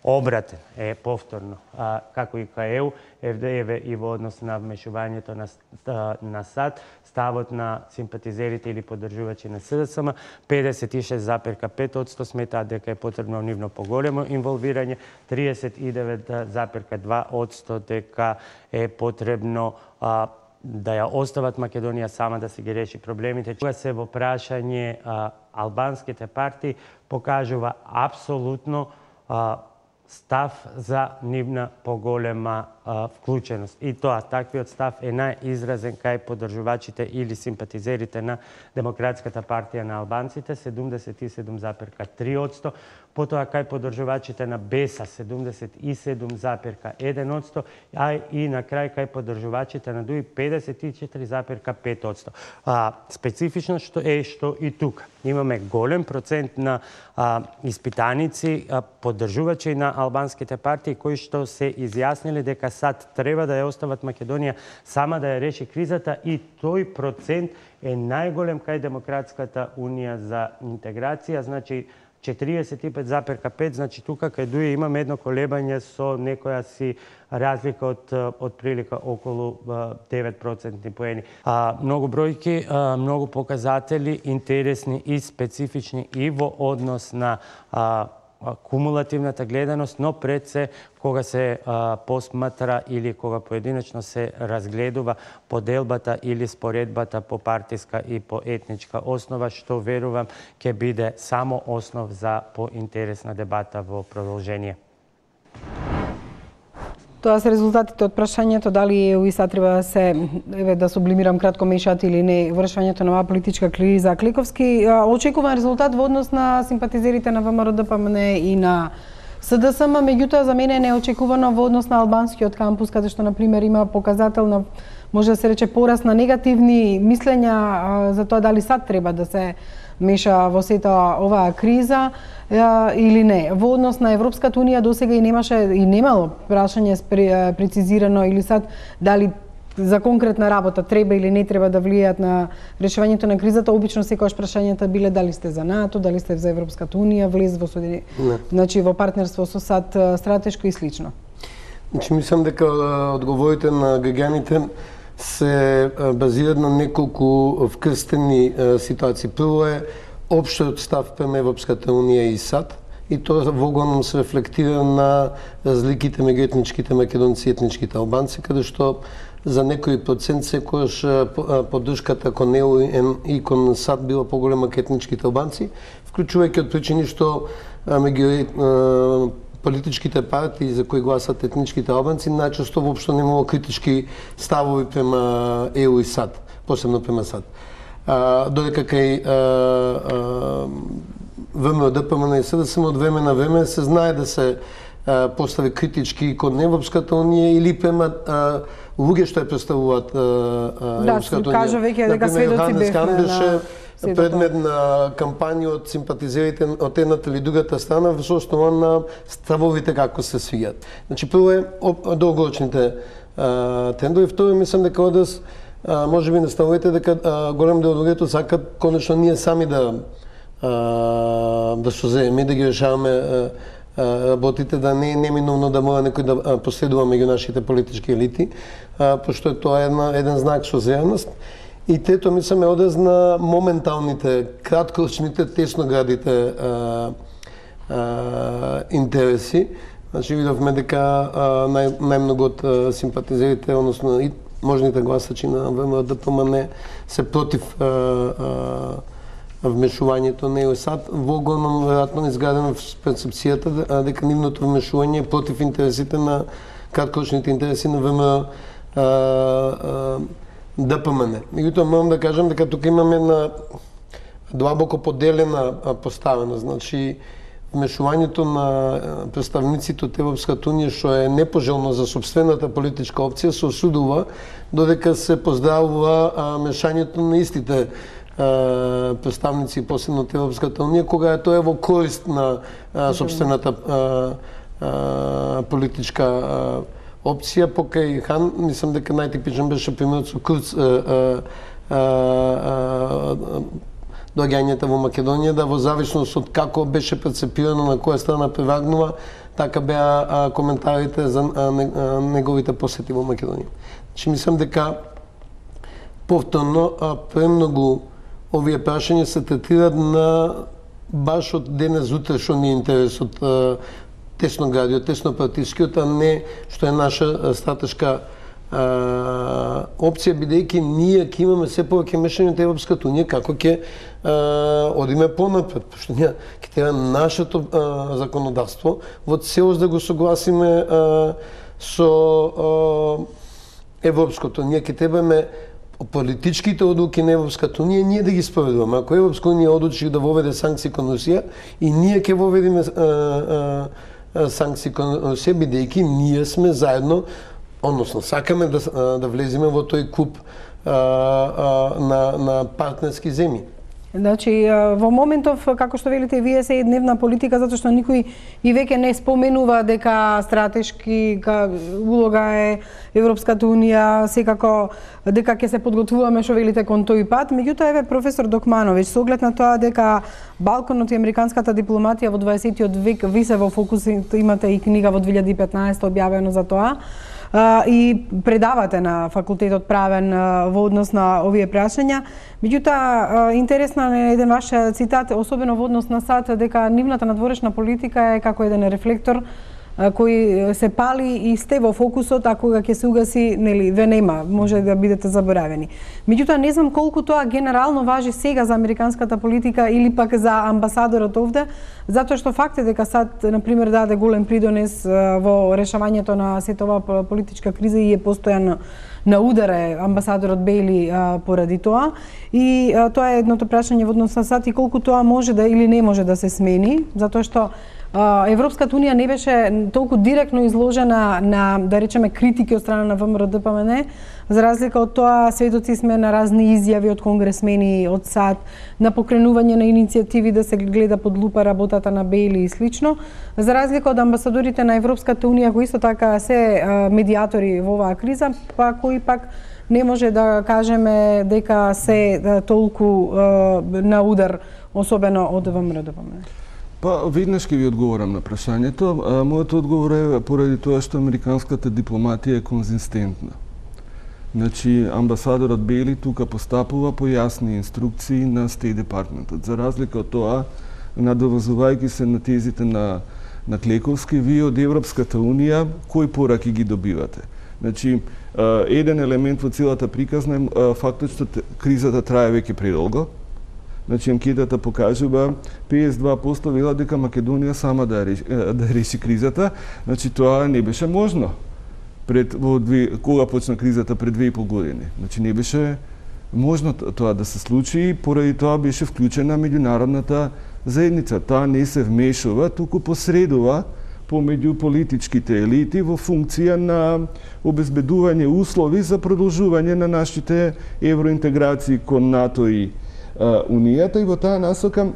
Обратен е повторно, а, како и кај Е У, Ф Д Е В и во однос на вмешувањето на, на САД, ставот на симпатизерите или поддржувачи на С Д С М, педесет и шест запирка пет одсто сметаат дека е потребно нивно поголемо инволвирање, триесет и девет запирка два одсто дека е потребно а, да ја остават Македонија сама да си ги реши проблемите. Кога се во прашање а, албанските партии покажува апсолутно а, став за нивна поголема а, вклученост. И тоа, таквиот став е најизразен кај поддржувачите или симпатизерите на Демократската партија на албанците, седумдесет и седум зарез три одсто, потоа кај поддржувачите на Беса седумдесет и седум зарез еден одсто, а и на крај кај поддржувачите на ДУИ педесет и четири зарез пет одсто. А, специфично што е што и тука имаме голем процент на а, испитаници, а, поддржувачи на албанските партии кои што се изјаснили дека САД треба да ја остават Македонија сама да ја реши кризата, и тој процент е најголем кај Демократската унија за интеграција, значи четириесет и пет зарез пет, значи тука кај ДУИ имаме едно колебање со некоја си разлика од од прилика околу девет процентни поени. А, многу бројки, а, многу показатели, интересни и специфични и во однос на а, кумулативната гледаност, но пред се кога се а, посматра или кога поединечно се разгледува поделбата или споредбата по партиска и по етничка основа, што верувам ќе биде само основ за поинтересна дебата во продолжение. Тоа се резултатите од прашањето дали ЕУ и САД треба да се, еве да сублимирам кратко, мешаат или не вршувањето на оваа политичка криза. Кликовски, очекуван резултат во однос на симпатизерите на ВМРО Д П М Н и на С Д С М, меѓутоа за мене е неочекувано во однос на албанскиот кампус, каде што, например, има показател на, може да се рече, пораст на негативни мислења за тоа дали САД треба да се меша во сета оваа криза или не. Во однос на Европската унија досега и немаше и немало прашање прецизирано или САД дали за конкретна работа треба или не треба да влијаат на решавањето на кризата. Обично секогаш прашањата биле дали сте за НАТО, дали сте за Европската унија, влез во Соедини... значи во партнерство со САД стратешко и слично. Значи мислам дека одговорите на граѓаните се базираат на неколку вкрстени ситуации. Прво е општиот став према Европската унија и САД, и тоа во големом се рефлектира на разликите меѓу етничките македонци и етничките албанци, каде што за некој процент секогаш поддршката кон ЕУ и кон САД била поголема кај етничките албанци, вклучувајќи од причини што меѓу политичките партии за кои гласат етничките албанци најчесто воопшто немало критички ставови према ЕУ и САД, посебно према САД. А, додека кај ВМРО Д П М Н и С Д С М од време на време се знае да се а, постави критички кон Европската унија или према а, луѓе што ја представуваат Европската унија. Да, кажа веќе дека сведоци бевме беше предмет на кампања од симпатизерите од едната или другата страна во основа на ставовите како се свијат. Значи прво е долгорочните трендови, второ мислам дека одес може би наставувате дека голем дел од луѓето сакат конечно ние сами да да созееме, да ги решаваме работите, да не е неминовно да мора некој да последува меѓу нашите политички елити, пошто е тоа една, еден знак созеаност. И трето, мислам, е одез на моменталните, краткорочните, тесноградите а, а, интереси. Значи, видовме дека нај, најмногу од симпатизерите, односно и можните гласачи на ВМРО Д П М Н се против а, а, вмешувањето на ЕУ и САД, во големом веројатно изградено в перцепцијата дека нивното вмешување е против интересите на краткорочните интереси на ВМРО Д П М Н. Меѓутоа морам да кажам дека тука имаме една длабоко поделена поставеност. Значи вмешувањето на представниците од Европската унија, што е непожелно за собствената политичка опција, се осудува, додека се поздравува мешањето на истите представници посебно од Европската унија, кога е тоа во корист на собствената политичка опција. Покај Хан, мислам дека најтипичен беше примерот со Курц доаѓањето во Македонија, да во зависност од како беше прецепирано на која страна превагнува, така беа коментарите за неговите посети во Македонија. Значи мислам дека повторно премногу овие прашања се третираат на баш од денес утре што ни е интересот тесноградиот, теснопартискиот, а не што е наша стратешка а, опција, бидејќи ние ќе имаме се повеќе мешање од Европската унија, како ќе одиме понапред, пошто ние ќе треба нашето а, законодавство во целост да го согласиме а, со европското. Ние ќе требаме политичките одлуки на Европската унија ние да ги спроведуваме. Ако Европска унија одлучи да воведе санкции кон Русија, и ние ќе воведеме санкции кон Русија, бидејќи ние сме заедно, односно сакаме да да влеземе во тој клуб на на партнерски земји. Значи, во моментов, како што велите, вие се едневна политика, затоа што никој и веќе не споменува дека стратешки улога е Европската унија, секако дека ќе се подготвуваме, што велите, кон тој пат. Меѓутоа, еве, професор Докмановиќ, со оглед на тоа дека Балканот и американската дипломатија во дваесеттиот век висе во фокус, имате и книга во две илјади и петнаесета објавено за тоа, и предавате на факултетот правен во однос на овие прашања. Меѓутоа, интересно е еден ваш цитат, особено во однос на САД, дека нивната надворешна политика е како еден рефлектор кој се пали и сте во фокусот, а кога ќе се угаси, нели, ве нема, може да бидете заборавени. Меѓутоа, не знам колку тоа генерално важи сега за американската политика или пак за амбасадорот овде, затоа што факт е дека САД, например, даде голем придонес во решавањето на сета оваа политичка криза и е постојано на ударе амбасадорот Бейли а, поради тоа. И а, тоа е едното прашање во однос на САД и колку тоа може да или не може да се смени, затоа што Европската унија не беше толку директно изложена на, да речеме, критики од страна на ВМРО-ДПМН, за разлика од тоа сведоци сме на разни изјави од конгресмени, од САД, на покренување на иницијативи да се гледа под лупа работата на Бейли и слично, за разлика од амбасадорите на Европската унија, кои исто така се медиатори во оваа криза, па кои пак не може да кажеме дека се толку на удар, особено од ВМРО-ДПМН. Па, веднаш ќе ви одговорам на прашањето. Мојот одговор е поради тоа што американската дипломатија е конзистентна. Значи, амбасадорот Бейли тука постапува по јасни инструкции на Стейт Департментот. За разлика од тоа, надоврзувајќи се на тезите на, на Клековски, вие од Европската унија, кои пораки ги добивате? Значи, еден елемент во целата приказна е фактот што кризата трае веќе предолго. Значи, анкетата покажува педесет и два проценти велат дека Македонија сама да реши, да реши кризата. Значи, тоа не беше можно пред во две, кога почна кризата пред две и пол години. Значи, не беше можно тоа да се случи, поради тоа беше вклучена меѓународната заедница. Таа не се вмешува, туку посредува помеѓу политичките елити во функција на обезбедување услови за продолжување на нашите евроинтеграции кон НАТО и Унијата, и во таа насока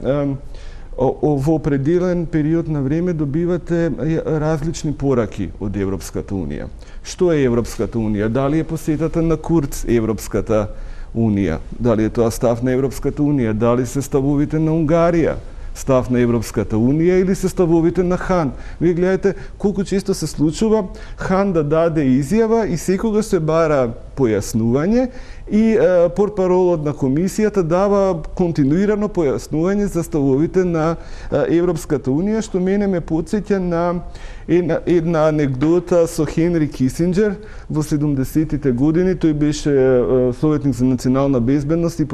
во определен период на време добивате различни пораки од Европската унија. Што е Европската унија? Дали е посетата на Курц Европската унија? Дали е тоа став на Европската унија? Дали се ставовите на Унгарија став на Европската унија или се ставовите на Хан? Вие гледате колку често се случува Хан да даде изјава и секогаш се бара појаснување и е, портпаролот на комисијата дава континуирано појаснување за ставовите на е, Европската унија, што мене ме потсеќа на една, една анекдота со Хенри Кисинџер во седумдесетите години. Тој беше е, советник за национална безбедност и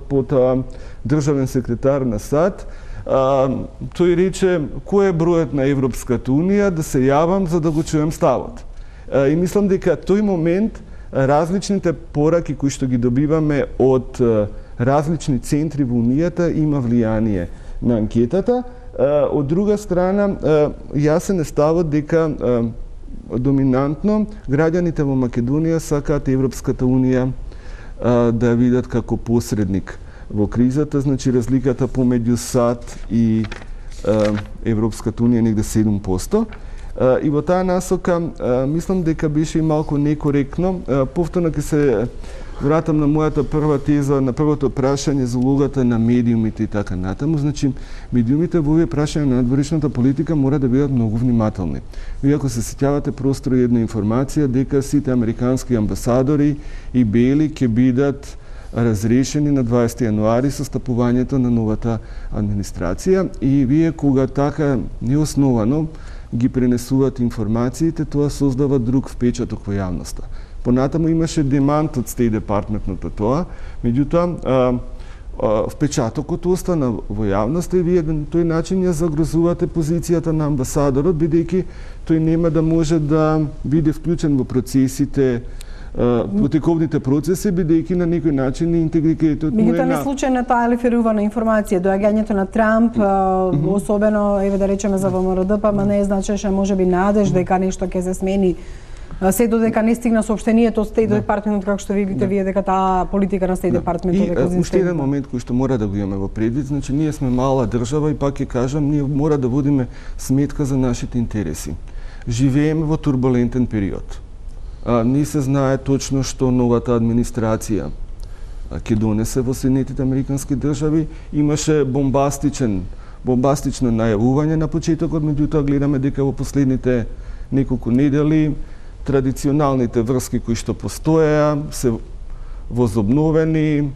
потоа државен секретар на САД. А, тој рече, кој е бројот на Европската унија, да се јавам за да го чуем ставот. А, и мислам дека тој момент различните пораки кои што ги добиваме од различни центри во Унијата има влијание на анкетата. Од друга страна, јасен е ставот дека доминантно граѓаните во Македонија сакаат Европската унија да видат како посредник во кризата. Значи, разликата помеѓу САД и Европската унија негде седум проценти. И во таа насока, мислам дека беше и малку некоректно. Повторно ќе се вратам на мојата прва теза, на првото прашање за улогата на медиумите и така натаму. Значи, медиумите во овие прашања на надворешната политика мора да бидат многу внимателни. Вие ако се сеќавате простро една информација дека сите американски амбасадори и Бейли ќе бидат разрешени на дваесети јануари со стапувањето на новата администрација, и вие кога така неосновано ги пренесуваат информациите, тоа создава друг впечаток во јавноста. Понатаму имаше демант од Стейт Департментот на тоа, меѓутоа впечатокот остана во јавноста и вие на тој начин ја загрозувате позицијата на амбасадорот, бидејќи тој нема да може да биде вклучен во процесите, протековните процеси, бидејќи на некој начин интегритетот му е Меѓутоа не случајно таа лиферувана информација, доаѓањето на Трамп, mm -hmm. особено еве да речеме за ВМРО, па ма не значеше можеби надеж дека нешто ќе се смени. Се додека не стигна соопштението од Стејт департментот, како што видите вие дека таа политика на Стејт департментот дека и уште еден момент кој што мора да го имаме во предвид, значи ние сме мала држава и пак ќе кажам, ние мора да водиме сметка за нашите интереси. Живееме во турбулентен период. А, не се знае точно што новата администрација ќе донесе во Соединетите Американски држави. Имаше бомбастичен, бомбастично најавување на почетокот, меѓутоа гледаме дека во последните неколку недели традиционалните врски кои што постоеа се возобновени,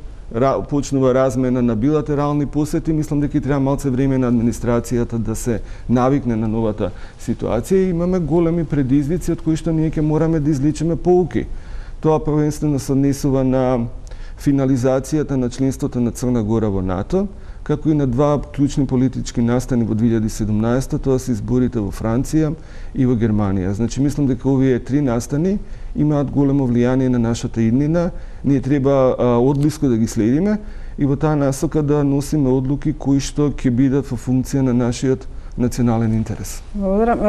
почнува размена на билатерални посети. Мислам дека треба малце време на администрацијата да се навикне на новата ситуација и имаме големи предизвици од кои што ние ќе мораме да извлечеме поуки. Тоа првенствено се однесува на финализацијата на членството на Црна Гора во НАТО, како и на два клучни политички настани во две илјади и седумнаесета, тоа се изборите во Франција и во Германија. Значи, мислам дека овие три настани имаат големо влијание на нашата иднина. Ние треба а, одблиско да ги следиме и во таа насока да носиме одлуки кои што ќе бидат во функција на нашиот национален интерес. Благодарам.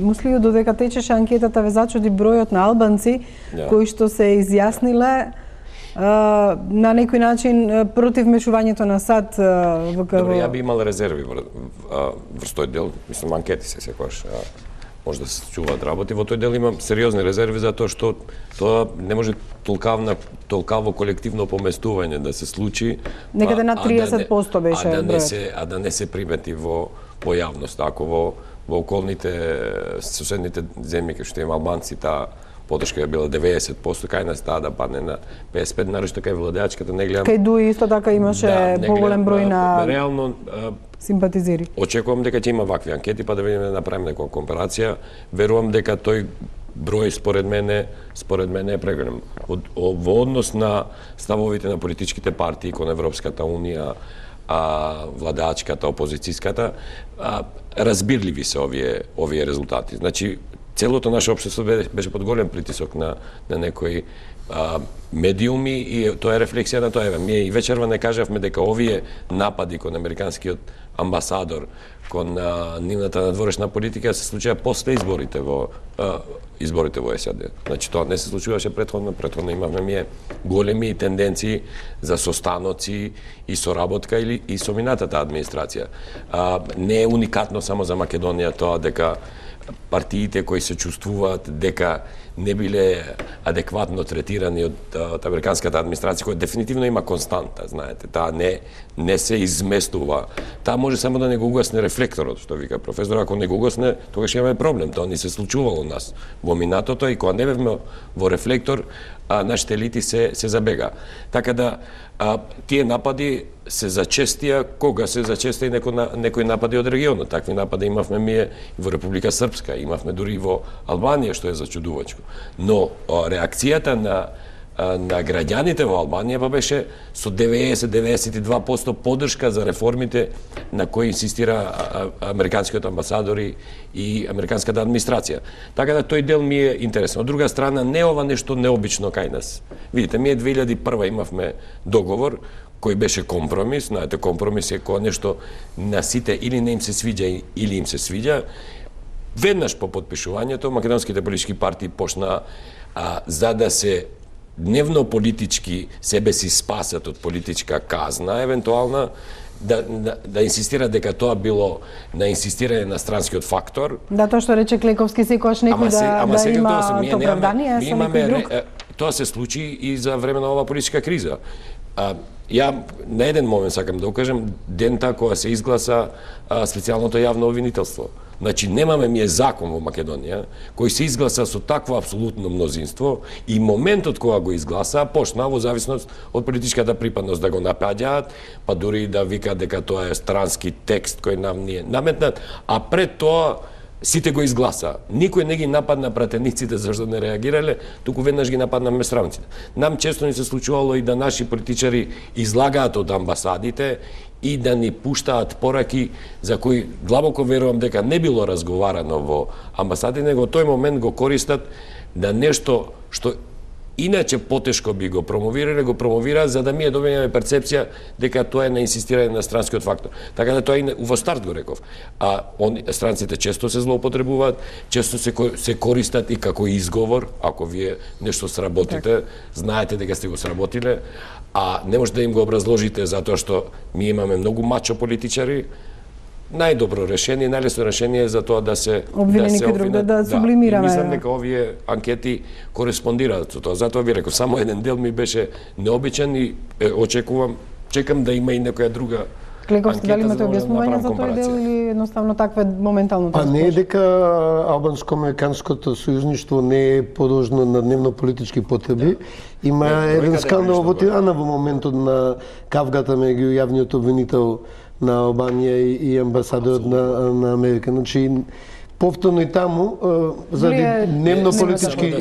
Муслију, додека течеше анкетата, ве зачуди бројот на албанци yeah. кои што се изјасниле на некој начин против мешувањето на САД во Добро, ја би имал резерви врз тој дел, мислам анкети се секогаш може да се чуваат работи, во тој дел имам сериозни резерви за тоа што тоа не може толкавна толкаво колективно поместување да се случи некаде на триесет проценти беше а да не се а да не се примети во во јавност, ако во во околните соседните земји кои што има албанци таа подршка ја била деветдесет проценти, кај нас таа да падне на песет и пет, нарочно кај владеачката не гледам. Кај Дуи исто така имаше да, поголем број на реално симпатизери. Очекувам дека ќе има вакви анкети, па да видиме да направиме некоја компарација. Верувам дека тој број според мене, според мене е преголем. Во однос на ставовите на политичките партии кон Европската унија, а владеачката, опозицијската, а, разбирливи се овие овие резултати. Значи целото наше општество беше под голем притисок на на некои а, медиуми и тоа е рефлексија на тоа. Еве, ние и вечерва не кажавме дека овие напади кон американскиот амбасадор, кон а, нивната надворешна политика се случија после изборите во а, изборите во САД. Значи тоа не се случуваше претходно, претходно имавме ние големи тенденции за состаноци и соработка или и со минатата администрација. А, не е уникатно само за Македонија тоа дека партиите кои се чувствуваат дека не биле адекватно третирани од, од американската администрација, која дефинитивно има константа, знаете, таа не не се изместува. Таа може само да не го угасне рефлекторот, што вика професор, ако не го угасне, тогаш имаме проблем. Тоа не се случувало у нас во минатото и кога не бевме во рефлектор, а, нашите елити се се забега. Така да а, тие напади се зачестија, кога се зачестија некои некои напади од регионот. Такви напади имавме ние во Република Српска, имавме дури и во Албанија, што е зачудувачко. Но а, реакцијата на на граѓаните во Албанија па беше со деветдесет до деветдесет и два проценти поддршка за реформите на кои инсистира американскиот амбасадор и американската администрација. Така да тој дел ми е интересен. Од друга страна, не ова нешто необично кај нас. Видите, ние две илјади и прва имавме договор кој беше компромис. Знаете, компромис е кога нешто на сите или не им се свиѓа или им се свиѓа. Веднаш по подпишувањето македонските политички партии почна а, за да се дневно политички себе си спасат од политичка казна, евентуална, да, да, да инсистира дека тоа било на инсистирање на странскиот фактор. Да, тоа што рече Клековски, секојаш некој да, да има оправдание со некој друг. Тоа се случи и за време на оваа политичка криза. А, ја на еден момент сакам да укажем, дента кога се изгласа а, специјалното јавно обвинителство. Значи, немаме ми е закон во Македонија, кој се изгласа со такво апсолутно мнозинство и моментот кога го изгласа, почна во зависност од политичката припадност да го напаѓаат, па дури да вика дека тоа е странски текст кој нам ни е наметнат, а пред тоа сите го изгласа. Никој не ги нападна пратениците зашто не реагирале, туку веднаш ги нападна местранците. Нам често ни се случувало и да наши политичари излагаат од амбасадите и да ни пуштаат пораки за кои длабоко верувам дека не било разговарано во амбасадите, него тој момент го користат да нешто што иначе потешко би го промовирале, го промовираат за да ми е добиеме перцепција дека тоа е на инсистирање на странскиот фактор. Така да тоа и во старт го реков. А он, странците често се злоупотребуваат, често се се користат и како изговор, ако вие нешто сработите, знаете дека сте го сработиле, а не може да им го образложите затоа што ми имаме многу мачо политичари. Најдобро решение, најлесно решение е за тоа да се обвинени да се друг, да, да сублимираме. Да, мислам дека овие анкети кореспондираат со тоа. Затоа ви реков, само еден дел ми беше необичен и е, очекувам, чекам да има и некоја друга Клековски, дали имате објаснување за тој дел или едноставно таква моментално тоа? Па не е дека албанско-американското сојузништво не е подложно на дневно-политички потреби. Има не, еден скандал во Тирана во моментот на кавгата меѓу јавниот обвинител на Албанија и амбасадорот на, на Америка. Значи, повторно и таму, заради дневно-политички...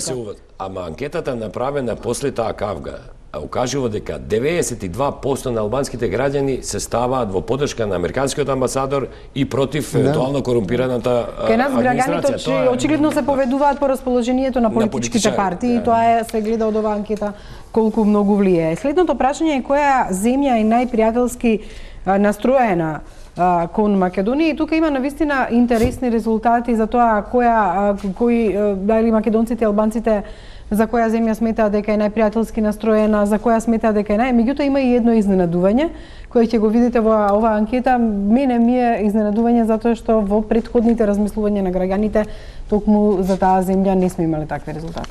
Ама анкетата направена после таа кавга укажува дека деветдесет и два проценти на албанските граѓани се ставаат во поддршка на американскиот амбасадор и против да. евентуално корумпираната администрација. Кај нас граѓаните че очигледно се поведуваат по расположението на политичките на партии да. И тоа е се гледа од оваа анкета колку многу влијае. Следното прашање е која земја е најпријателски настроена а, кон Македонија и тука има навистина интересни резултати за тоа која кои дали македонците и албанците за која земја сметаат дека е најпријателски настроена, за која сметаат дека е нај. Меѓутоа има и едно изненадување кое ќе го видите во оваа анкета. Мене ми е изненадување затоа што во претходните размислувања на граѓаните токму за таа земја не сме имале такви резултати.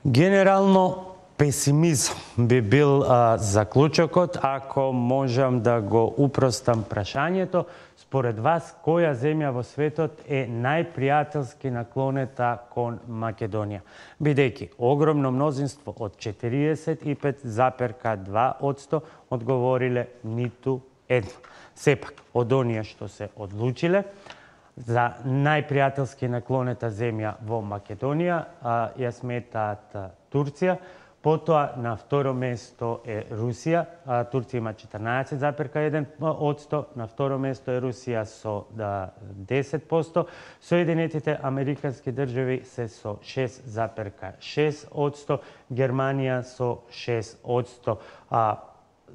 Генерално песимизм би бил а, заклучокот ако можам да го упростам прашањето. Според вас, која земја во светот е најпријателски наклонета кон Македонија? Бидејќи огромно мнозинство од четириесет и пет зарез и два одсто одговориле ниту едно. Сепак, од оние што се одлучиле за најпријателски наклонета земја во Македонија, а, ја сметаат Турција. Потоа на второ место е Русија, а Турција има четрнаесет зарез и еден одсто, на второ место е Русија со десет проценти, Соединетите Американски држави се со шест зарез и шест одсто, Германија со шест одсто. А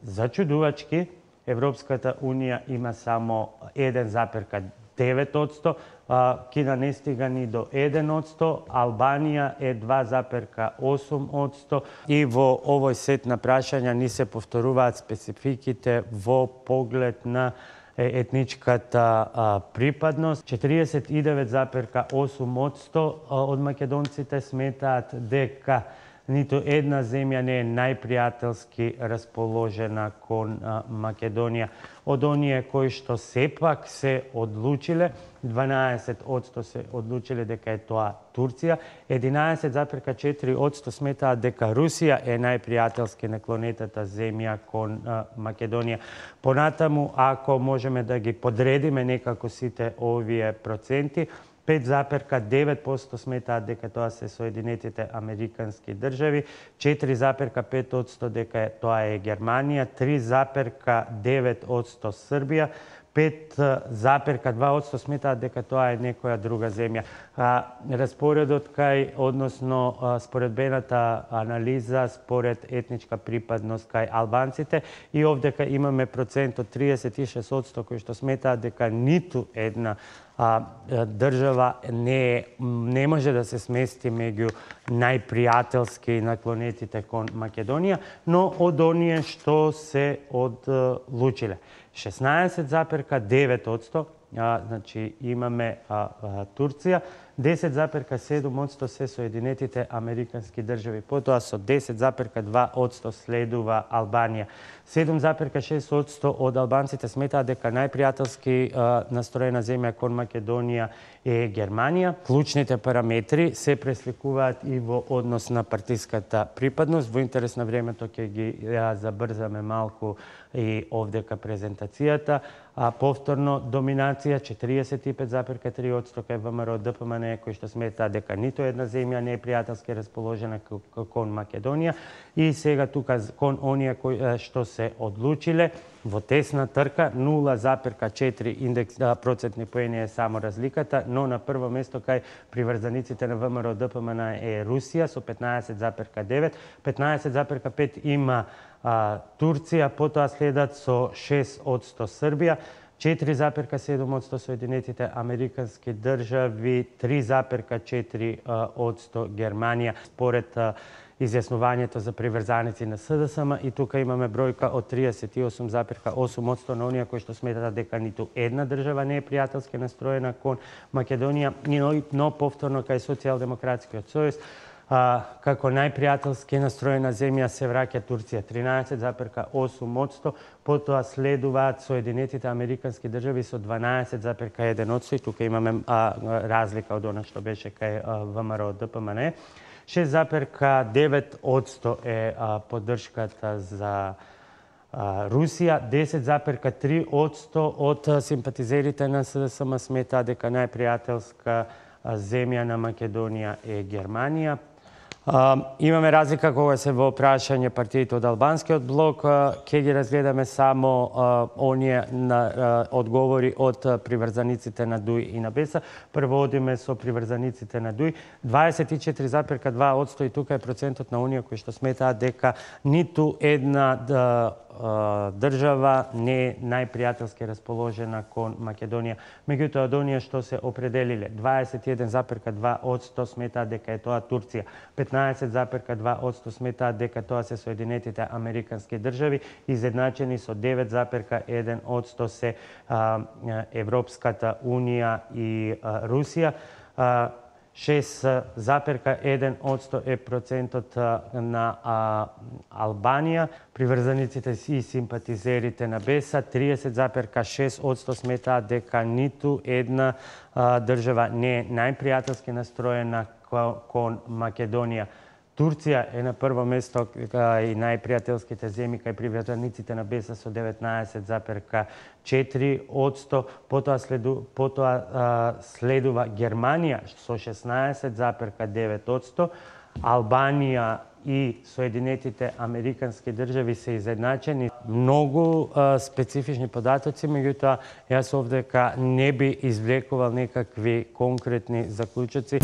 зачудувачки, Европската унија има само еден зарез и девет одсто, Кина не стига ни до еден одсто, Албанија е два зарез и осум одсто и во овој сет на прашања ни се повторуваат спецификите во поглед на етничката а, припадност. четириесет и девет зарез и осум одсто од македонците сметаат дека ниту една земја не е најпријателски расположена кон а, Македонија. Од оние кои што сепак се одлучиле, дванаесет одсто се одлучиле дека е тоа Турција, единаесет зарез и четири одсто сметаат дека Русија е најпријателски наклонетата земја кон а, Македонија. Понатаму, ако можеме да ги подредиме некако сите овие проценти, пет зарез и девет проценти сметаат дека тоа се Соединетите Американски држави, четири зарез и пет одсто дека тоа е Германија, три зарез и девет одсто Србија, пет зарез и два одсто сметаат дека тоа е некоја друга земја. А, распоредот кај, односно а, споредбената анализа според етничка припадност кај албанците и овдека имаме процент од триесет и шест одсто кои што сметаат дека ниту една а, држава не, не може да се смести меѓу најпријателски наклонетите кон Македонија, но од оние што се одлучиле. шеснаесет зарез и девет одсто, а, значи имаме а, а, Турција, десет зарез и седум одсто се Соединетите Американски држави, потоа со десет зарез и два одсто следува Албанија. седум зарез и шест одсто од албанците сметаат дека најпријателски а, настроена земја кон Македонија е Германија. Клучните параметри се пресликуваат и во однос на партиската припадност. Во интерес на времето ќе ги ја забрзаме малку и овдека презентацијата. а, повторно доминација четиридесет и пет запирка три одсто кај ВМРО Д П М Н, кои што смета дека ниту една земја не е пријателски расположена кон Македонија, и сега тука кон оние кои што се одлучиле во тесна трка, нула запирка четири индекс да, процентни поени е само разликата, но на прво место кај приврзаниците на ВМРО Д П М Н е Русија со петнаесет запирка девет, петнаесет запирка пет има а, Турција, потоа следат со шест одсто Србија, четири запирка седум одсто Соединетите Американски држави, три запирка четири одсто Германија, според а, изјаснувањето за приврзаници на С Д С М, и тука имаме бројка од триесет и осум запирка осум одсто на оние кои што сметат дека ниту една држава не е пријателски настроена кон Македонија, но, но повторно кај Социјалдемократскиот сојуз, А, како најпријателски настроена земја се враќа Турција, тринаесет запирка осум одсто, потоа следуваат Соединетите Американски држави со дванаесет запирка еден одсто, и тука имаме а, разлика од она што беше кај ВМРО Д П М Н. шест запирка девет одсто е а, поддршката за а, Русија, десет запирка три одсто од симпатизерите на С Д С М сметаат дека најпријателска земја на Македонија е Германија. Uh, имаме разлика кога се во прашање партиите од албанскиот блок, uh, ќе ги разгледаме само uh, оние на, uh, одговори од uh, приврзаниците на Дуј и на Беса. Прво одиме со приврзаниците на Дуј, дваесет и четири запирка два одсто, и тука е процентот на оние кои што сметаат дека ниту една да, држава не е најпријателски расположена кон Македонија. Меѓутоа, од оние што се определиле, дваесет и еден запирка два одсто сметаат дека е тоа Турција, петнаесет запирка два одсто сметаат дека тоа се Соединетите Американски држави, изедначени со девет запирка еден одсто се а, Европската Унија и а, Русија. А, шест запирка еден одсто е процентот на а, Албанија, приврзаниците и симпатизерите на Беса, триесет запирка шест одсто сметаат дека ниту една а, држава не е најпријателски настроена кон Македонија. Турција е на прво место и најпријателските земји кај приврзаниците на Беса со деветнаесет запирка четири одсто, потоа, следу, потоа а, следува Германија со шеснаесет запирка девет одсто, Албанија и Соединетите Американски држави се изедначени. Многу а, специфични податоци, меѓутоа јас овдека не би извлекувал некакви конкретни заклучоци.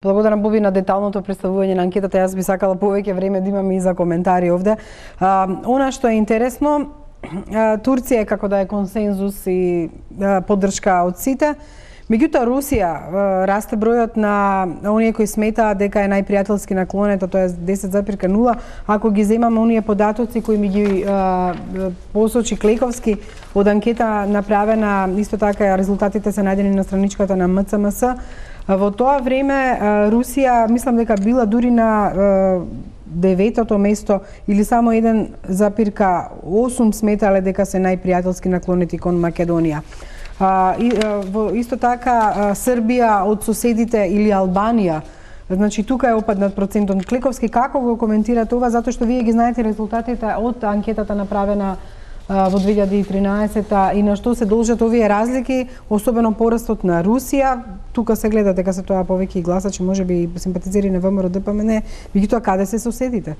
Благодарам, Боби, на деталното представување на анкетата. Јас би сакала повеќе време да имаме и за коментари овде. А, она што е интересно, а, Турција е како да е консензус и а, поддршка од сите. Меѓутоа, Русија а, расте бројот на оние кои сметаат дека е најпријателски наклонета, тоа е десет запирка нула. Ако ги земаме оние податоци кои ми ги а, посочи Клековски од анкета направена, исто така резултатите се најдени на страничката на М Ц М С. Во тоа време Русија, мислам дека била дури на деветото место или само еден запирка осум сметале дека се најпријателски наклонети кон Македонија. А, и, а, во, исто така а, Србија од соседите или Албанија, значи тука е опаднат процентот. Клековски, како го коментирате ова, затоа што вие ги знаете резултатите од анкетата направена а, во две илјади и тринаесета и на што се должат овие разлики, особено порастот на Русија. Тука се гледа дека се тоа повеќе гласачи, можеби и симпатизери на ВМРО Д П М Н, меѓутоа каде се соседите?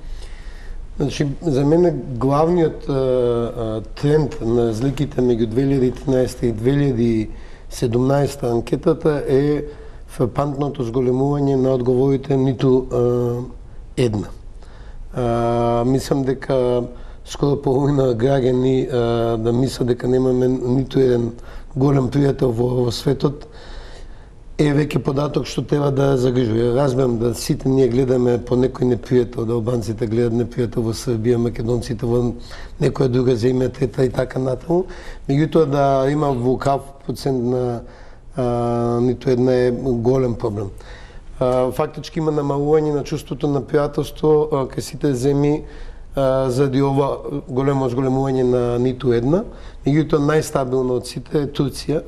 Значи, за мене главниот а, а, тренд на разликите меѓу две илјади и тринаесета и две илјади и седумнаесета анкетата е фрапантното зголемување на одговорите ниту а, една. А, мислам дека скоро половина граѓани а, да мислат дека немаме ниту еден голем пријател во, во светот, е веќе податок што треба да загрижува. Разбирам да сите ние гледаме по некој непријател, да албанците гледат непријател во Србија, македонците во некоја друга земја, трета и така натаму. Меѓутоа да има вулкав процент на а, ниту една е голем проблем. А, фактички има намалување на чувството на пријателство кај сите земји заради ова големо зголемување на ниту една. Меѓутоа најстабилно од сите е Турција,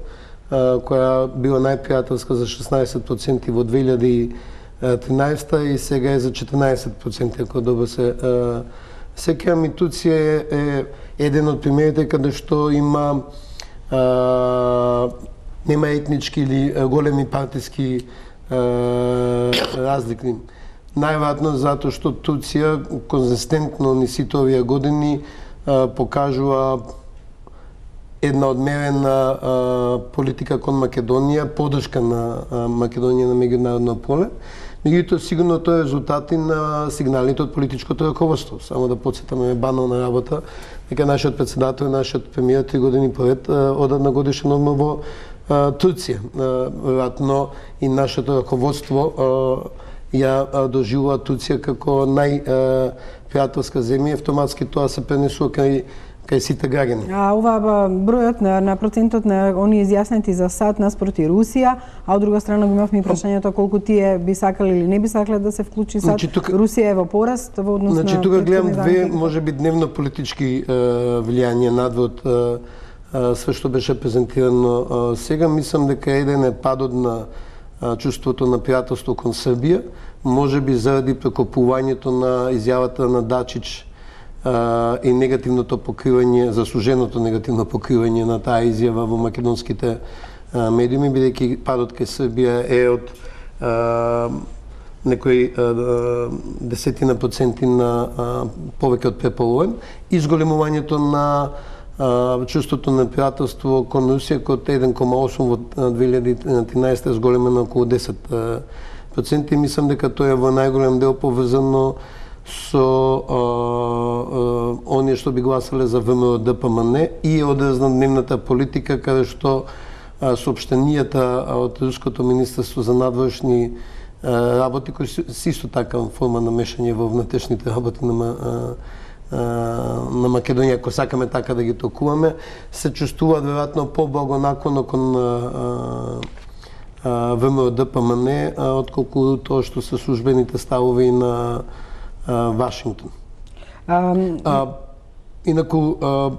која била најпријателска за шеснаесет проценти во две илјади тринаесетта и сега е за четинаесет проценти, ако добро се сеќавам. И Турција е, е еден од примерите каде што има а, нема етнички или големи партиски а, разлики. Најверојатно затоа што Турција конзистентно ни сите овие години а, покажува една одмерена а, политика кон Македонија, поддршка на а, Македонија на меѓународно поле. Меѓутоа, сигурно тоа е резултати на сигналите од политичкото раководство. Само да подсетаме банална работа, дека нашиот председател и нашиот премиер три години поред одат на годишен одмор во Турција. Веројатно и нашето раководство ја доживува Турција како најпријателска земја, автоматски тоа се пренесува кај кај сите граѓани. А ова бројот на, на процентот на они изјаснети за САД наспроти Русија, а од друга страна го имавме прашањето колку тие би сакале или не би сакале да се вклучи САД. Значи, тука, Русија е во пораст во однос значи, на... Значи тука гледам две, може би, дневно политички е, влијанија надвор све што беше презентирано е, сега. Мислам дека еден е падот на е, чувството на пријателство кон Србија, може би заради прекопувањето на изјавата на Дачич Uh, и негативното покривање, заслуженото негативно покривање на таа изјава во македонските uh, медиуми, бидејќи падот кај Србија е од uh, некои uh, десетина проценти на uh, повеќе од преполовен. Изголемувањето на uh, чувството на пријателство кон Русија од еден кома осум во две илјади и тринаесетта е зголемено околу десет проценти. Мислам дека тоа е во најголем дел поврзано со а, а, оние што би гласале за ВМРО-ДПМН и е одраз на дневната политика, каде што а, соопштенијата од Руското министерство за надворешни а, работи, кои се исто така форма на мешање во внатрешните работи на, а, а, на Македонија, ако сакаме така да ги толкуваме, се чувствуваат веројатно по-благонаклоно кон ВМРО-ДПМН, отколку тоа што се службените ставови на Вашингтон. Um, а, инаку, а,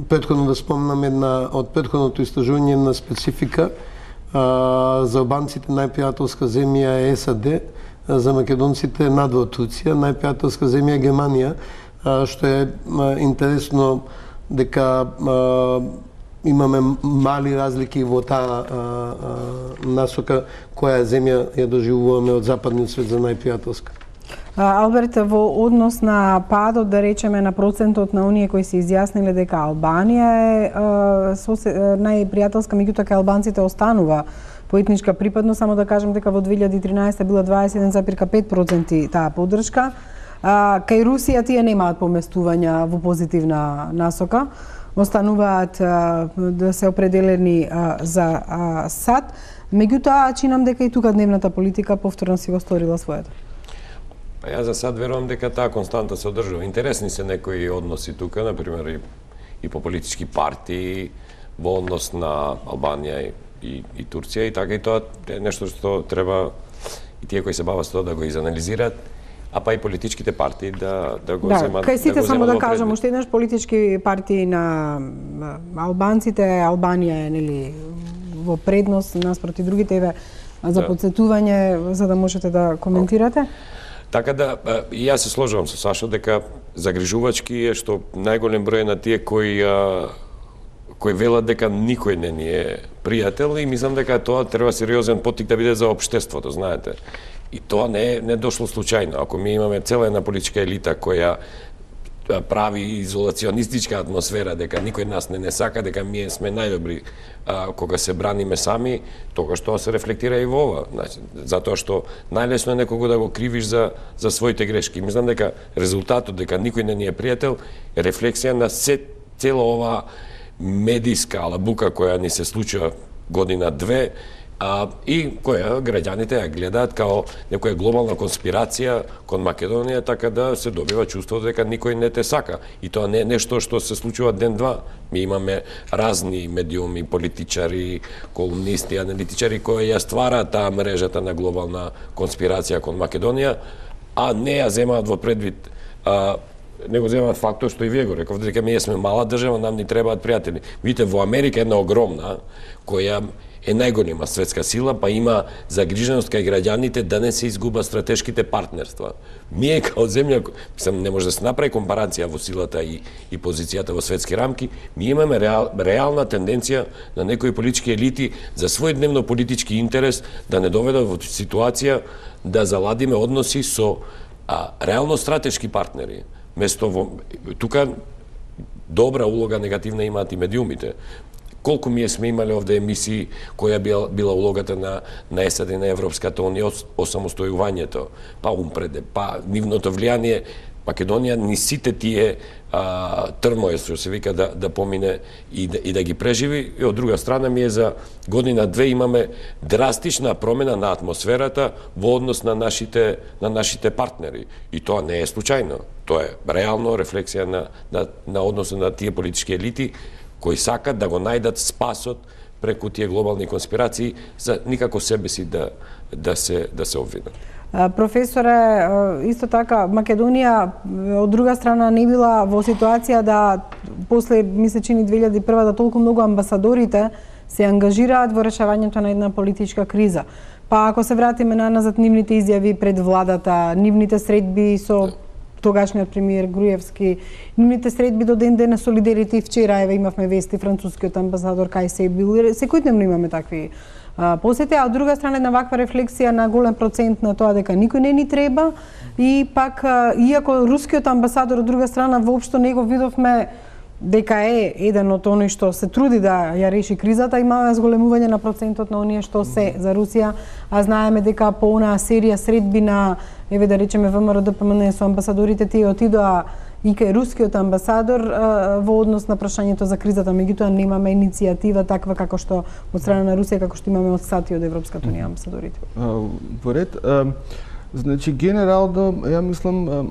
претходно да спомнам една од претходното истражување на специфика, а, за албанците најпријателска земја е САД, за македонците надвор Турција, најпријателска земја е Германија, а, што е а, интересно дека а, имаме мали разлики во таа насока која земја ја доживуваме од западниот свет за најпријателска. Алберт, во однос на падот, да речеме, на процентот на оние кои се изјасниле дека Албанија е најпријателска, меѓутоа кај албанците останува по етничка припадност, само да кажем дека во две илјади и тринаесетта била дваесет и еден запирка пет проценти таа поддршка. А, кај Русија тие немаат поместувања во позитивна насока, остануваат а, да се определени а, за а, САД, меѓутоа чинам дека и тука дневната политика повторно си го сторила своето. Па јас за сад верувам дека таа константа се одржува. Интересни се некои односи тука, например и, и по политички партии во однос на Албанија и, и, и Турција, и така и тоа е нешто што треба и тие кои се бават со тоа да го изанализираат, а па и политичките партии да да го да, земат. Кај сите да само да кажам предвид. уште еднаш, политички партии на албанците, Албанија е нели во предност наспроти другите, еве за да. подсетување за да можете да коментирате. Така да, и јас се сложувам со Сашо дека загрижувачки е што најголем број на тие кои кои велат дека никој не ни е пријател, и мислам дека тоа треба сериозен поттик да биде за општеството, знаете. И тоа не е не дошло случајно. Ако ми имаме цела една политичка елита која прави изолационистичка атмосфера, дека никој нас не не сака, дека ние сме најдобри а, кога се браниме сами, тогаш тоа се рефлектира и во ова. Значи, затоа што најлесно е некого да го кривиш за за своите грешки. Мислам дека резултатот дека никој не ни е пријател е рефлексија на се цела ова медиска алабука која ни се случува година две, а, и која граѓаните ја гледаат као некоја глобална конспирација кон Македонија, така да се добива чувството дека никој не те сака. И тоа не е нешто што се случува ден-два. Ми имаме разни медиуми, политичари, колумнисти, аналитичари кои ја ствараат таа мрежата на глобална конспирација кон Македонија, а не ја земаат во предвид а, не го земаат фактор што и вие го рековте, дека ние сме мала држава, нам ни требаат пријатели. Видите, во Америка една огромна, која е најголема светска сила, па има загриженост кај граѓаните да не се изгубат стратешките партнерства. Ние као земја, мислам, не може да се направи компарација во силата и, и позицијата во светски рамки, ние имаме реал, реална тенденција на некои политички елити за својдневно политички интерес да не доведат во ситуација да заладиме односи со а, реално стратешки партнери. Место во тука добра улога негативна имаат и медиумите. Колку ние сме имале овде емисии која била, била улогата на на САД и на Европската унија осамостојувањето, па умпреде, па нивното влијание Македонија ни сите тие а, трмоја што се вика да да помине и да, и да ги преживи, и од друга страна ми е за година две имаме драстична промена на атмосферата во однос на нашите на нашите партнери, и тоа не е случајно. Тоа е реално рефлексија на на, на односот на тие политички елити кои сакат да го најдат спасот преку тие глобални конспирации за никако себе си да да се да се обвинат. Професоре, исто така Македонија од друга страна не била во ситуација да после ми се чини две илјади и прва да толку многу амбасадорите се ангажираат во решавањето на една политичка криза. Па ако се вратиме на назад нивните изјави пред владата, нивните средби со тогашниот премиер Груевски, нивните средби до ден денес со лидерите, и вчера еве имавме вести францускиот амбасадор кај се бил, секојдневно имаме такви а, посети, а од друга страна една ваква рефлексија на голем процент на тоа дека никој не ни треба, и пак а, иако рускиот амбасадор од друга страна воопшто не го видовме дека е еден од оние што се труди да ја реши кризата, имаме зголемување на процентот на оние што се за Русија, а знаеме дека по онаа серија средби на, еве да речеме ВМРО Д П М Н со амбасадорите, тие отидоа и кај рускиот амбасадор а, во однос на прашањето за кризата, меѓутоа немаме иницијатива таква како што од страна на Русија, како што имаме од САД и од Европската унија амбасадорите. Во ред, значи генерално, ја мислам,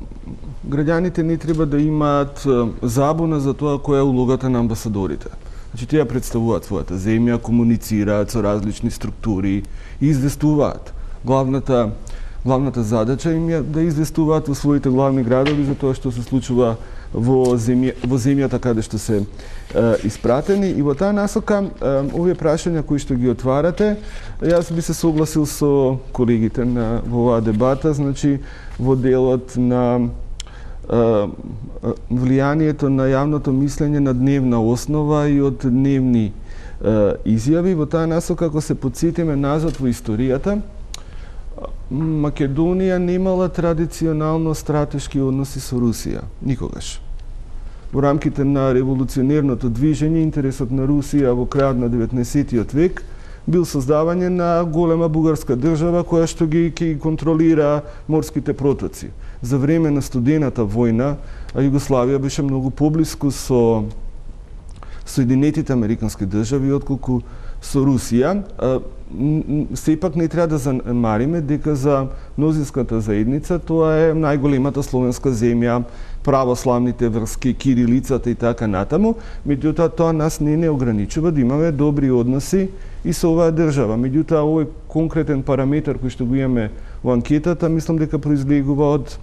граѓаните не треба да имаат забуна за тоа која е улогата на амбасадорите. Значи тие представуваат својата земја, комуницираат со различни структури и известуваат. Главната главната задача им е да известуваат во своите главни градови за тоа што се случува во земја, во земјата каде што се е, испратени, и во таа насока е, овие прашања кои што ги отварате, јас би се согласил со колегите на во оваа дебата, значи во делот на влијанието на јавното мислење на дневна основа и од дневни изјави. Во таа насока, ако се подсетиме назад во историјата, Македонија немала традиционално стратешки односи со Русија, никогаш. Во рамките на револуционерното движење, интересот на Русија во крајот на деветнаесеттиот век бил создавање на голема бугарска држава која што ги, ги контролира морските протоци. За време на студената војна, Југославија беше многу поблиску со Соединетите Американски држави отколку со Русија. Сепак не треба да занемариме дека за мнозинската заедница тоа е најголемата словенска земја, православните врски, кирилицата и така натаму. Меѓутоа тоа нас не не ограничува да имаме добри односи и со оваа држава. Меѓутоа овој конкретен параметар кој што го имаме во анкетата, мислам дека произлегува од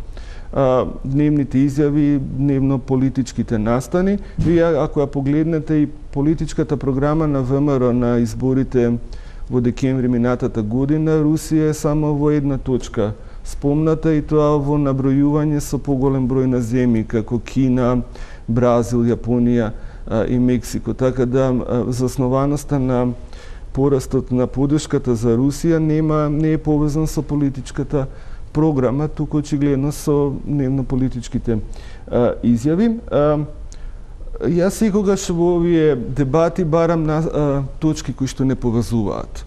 а, дневните изјави, дневно-политичките настани. Вие ако ја погледнете и политичката програма на ВМРО на изборите во декември минатата година, Русија е само во една точка спомната, и тоа во набројување со поголем број на земји како Кина, Бразил, Јапонија а, и Мексико. Така да а, заснованоста на порастот на поддршката за Русија нема не е повезан со политичката програма, туку очигледно со дневно-политичките а, изјави. А, Јас секогаш во овие дебати барам на а, точки кои што не поврзуваат.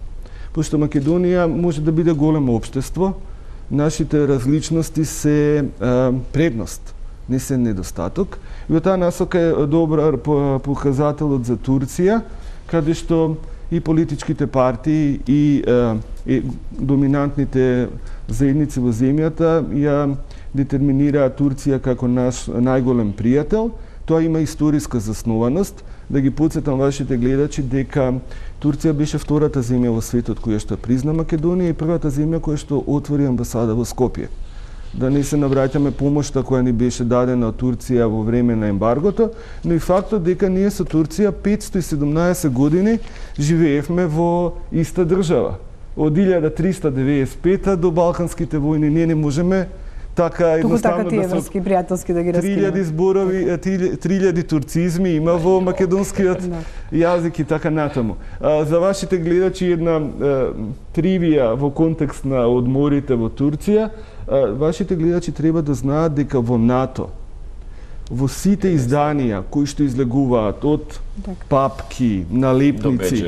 Пошто Македонија може да биде големо општество, нашите различности се а, предност, не се недостаток. И во таа насока е добар показателот за Турција, каде што и политичките партии и, а, и доминантните заедници во земјата ја детерминираат Турција како наш најголем пријател. Тоа има историска заснованост. Да ги потсетам вашите гледачи дека Турција беше втората земја во светот која што призна Македонија и првата земја која што отвори амбасада во Скопје. да не се навраќаме помошта која ни беше дадена од Турција во време на ембаргото, но и фактот дека ние со Турција петстотини и седумнаесет години живеевме во иста држава. Од илјада триста деветдесет и пета до Балканските војни ние не можеме така едноставно така тие врски пријателски да ги раскинеме. три илјади зборови, три илјади турцизми има во македонскиот јазик и така натаму. А, за вашите гледачи една а, тривија во контекст на одморите во Турција, а, вашите гледачи треба да знаат дека во НАТО, во сите изданија кои што излегуваат од папки, налепници,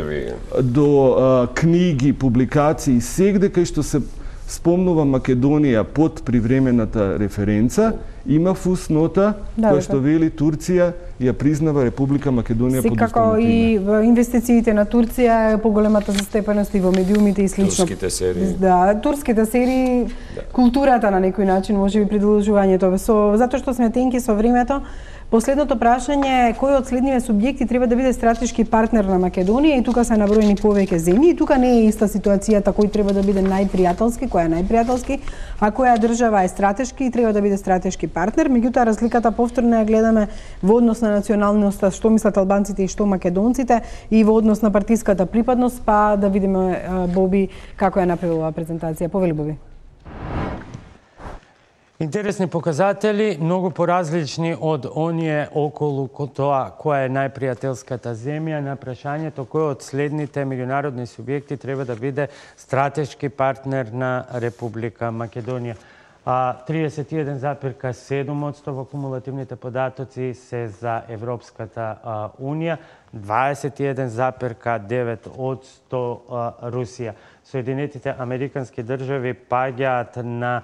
до, до а, книги, публикации, сегде кај што се спомнува Македонија под привремената референца, има фуснота да, која што вели Турција ја признава Република Македонија под уставното име. И во инвестициите на Турција е поголемата застепеност и во медиумите и слично. Турските серии. Да, турските серии, да. Културата на некој начин, можеби продолжувањето. Со затоа што сме тенки со времето, последното прашање е кој од следниве субјекти треба да биде стратешки партнер на Македонија и тука се наброени повеќе земји и тука не е иста ситуацијата кој треба да биде најпријателски, кој е најпријателски, а која држава е стратешки и треба да биде стратешки партнер. Меѓутоа разликата повторно ја гледаме во однос на националноста, што мислат албанците и што македонците и во однос на партиската припадност, па да видиме Боби како ја направила оваа презентација. Повели Боби. Интересни показатели, многу поразлични од оние околу тоа која е најпријателската земја, на прашањето кој од следните меѓународни субјекти треба да биде стратешки партнер на Република Македонија. триесет и еден запирка седум одсто во кумулативните податоци се за Европската Унија, дваесет и еден запирка девет одсто Русија. Соединетите Американски држави паѓаат на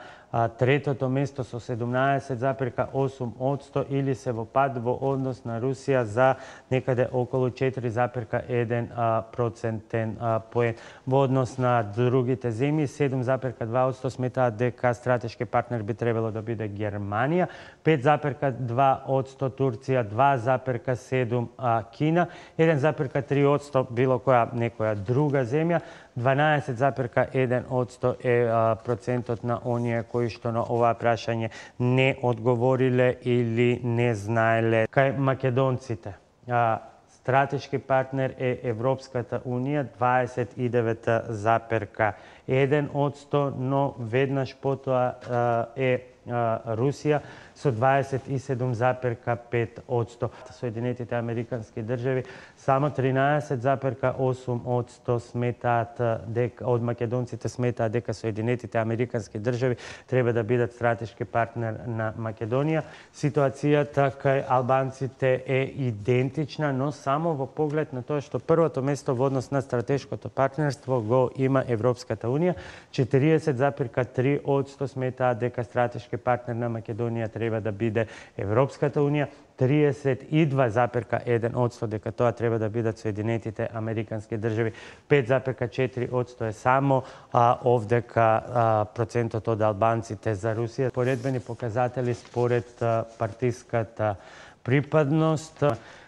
третото место со седумнаесет запирка осум одсто или се во пад во однос на Русија за некаде околу четири запирка еден процентен поен. Во однос на другите земји, седум запирка два одсто сметаат дека стратешки партнер би требало да биде Германија, пет запирка два одсто Турција, два запирка седум Кина, еден запирка три одсто било која некоја друга земја, дванаесет запирка еден одсто е а, процентот на оние кои што на ова прашање не одговориле или не знаеле. Кај македонците, а, стратешки партнер е Европската Унија, дваесет и девет запирка еден одсто, но веднаш потоа а, е а, Русија со дваесет и седум запирка пет одсто. Соединетите Американски држави само тринаесет запирка осум одсто сметаат дека од македонците сметаат дека Соединетите Американски држави треба да бидат стратешки партнер на Македонија. Ситуацијата кај албанците е идентична, но само во поглед на тоа што првото место во однос на стратешкото партнерство го има Европската Унија. четириесет запирка три одсто сметаат дека стратешки партнер на Македонија треба да биде Европската Унија, триесет и два запирка еден одсто дека тоа треба да бидат Соединетите Американски држави, пет запирка четири одсто е само а, овдека а, процентот од албанците за Русија. Поредбени показатели според а, партиската припадност.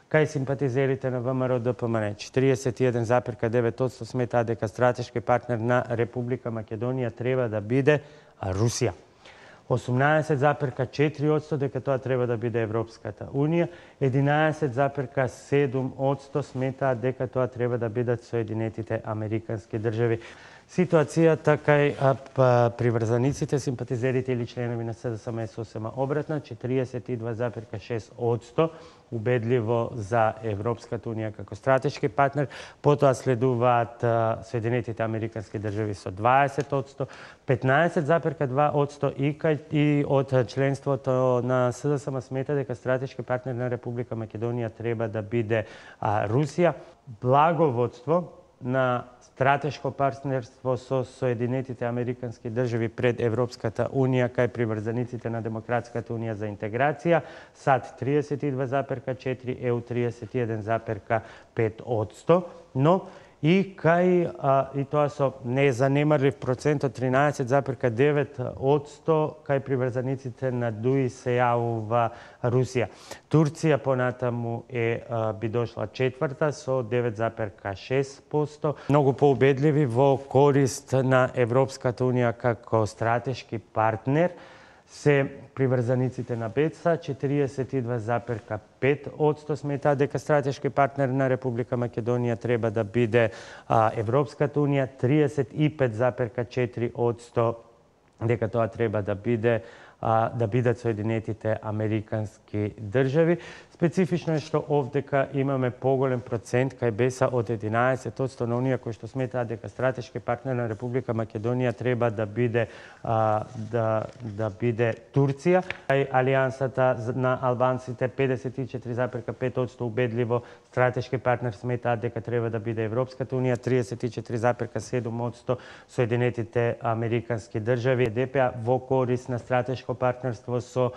Кај симпатизерите на ВМРО Д П М Н, четириесет и еден запирка девет одсто сметаат дека стратешки партнер на Република Македонија треба да биде Русија. осумнаесет запирка четири одсто дека тоа треба да биде Европската Унија, единаесет запирка седум одсто сметаат дека тоа треба да бидат Соединетите Американски држави. Ситуацијата кај приврзаниците, симпатизерите или членови на С Д С М С О С М обратно, четириесет и два запирка шест одсто убедливо за Европската Унија како стратешки партнер, потоа следуваат Соединетите Американски држави со дваесет одсто, петнаесет запирка два одсто и, и од членството на С Д С М смета дека стратешки партнер на Република Македонија треба да биде а, Русија. Благоводство на стратешко партнерство со Соединетите Американски држави пред Европската Унија кај приврзаниците на Демократската Унија за интеграција, САД триесет и два запирка четири, Е У триесет и еден запирка пет одсто, но и кај а, и тоа со незанемарлив процент од тринаесет запирка девет одсто кај приврзаниците на Д У И се јавува Русија. Турција понатаму е а, би дошла четврта со девет запирка шест одсто, многу поубедливи во корист на Европската Унија како стратешки партнер. се приврзаниците на БЕЦ-а, четириесет и два запирка пет одсто сметаат дека стратешки партнер на Република Македонија треба да биде а, Европската Унија, триесет и пет запирка четири одсто дека тоа треба да биде а, да бидат Соединетите Американски држави. Специфично е што овдека имаме поголем процент кај БЕС-а од единаесет одсто на оние кои што сметаат дека стратешки партнер на Република Македонија треба да биде а, да да биде Турција. Кај Алијансата на албанците педесет и четири запирка пет одсто убедливо стратешки партнер сметаат дека треба да биде Европската Унија, триесет и четири запирка седум одсто Соединетите Американски држави. ДПА во корис на стратешко партнерство со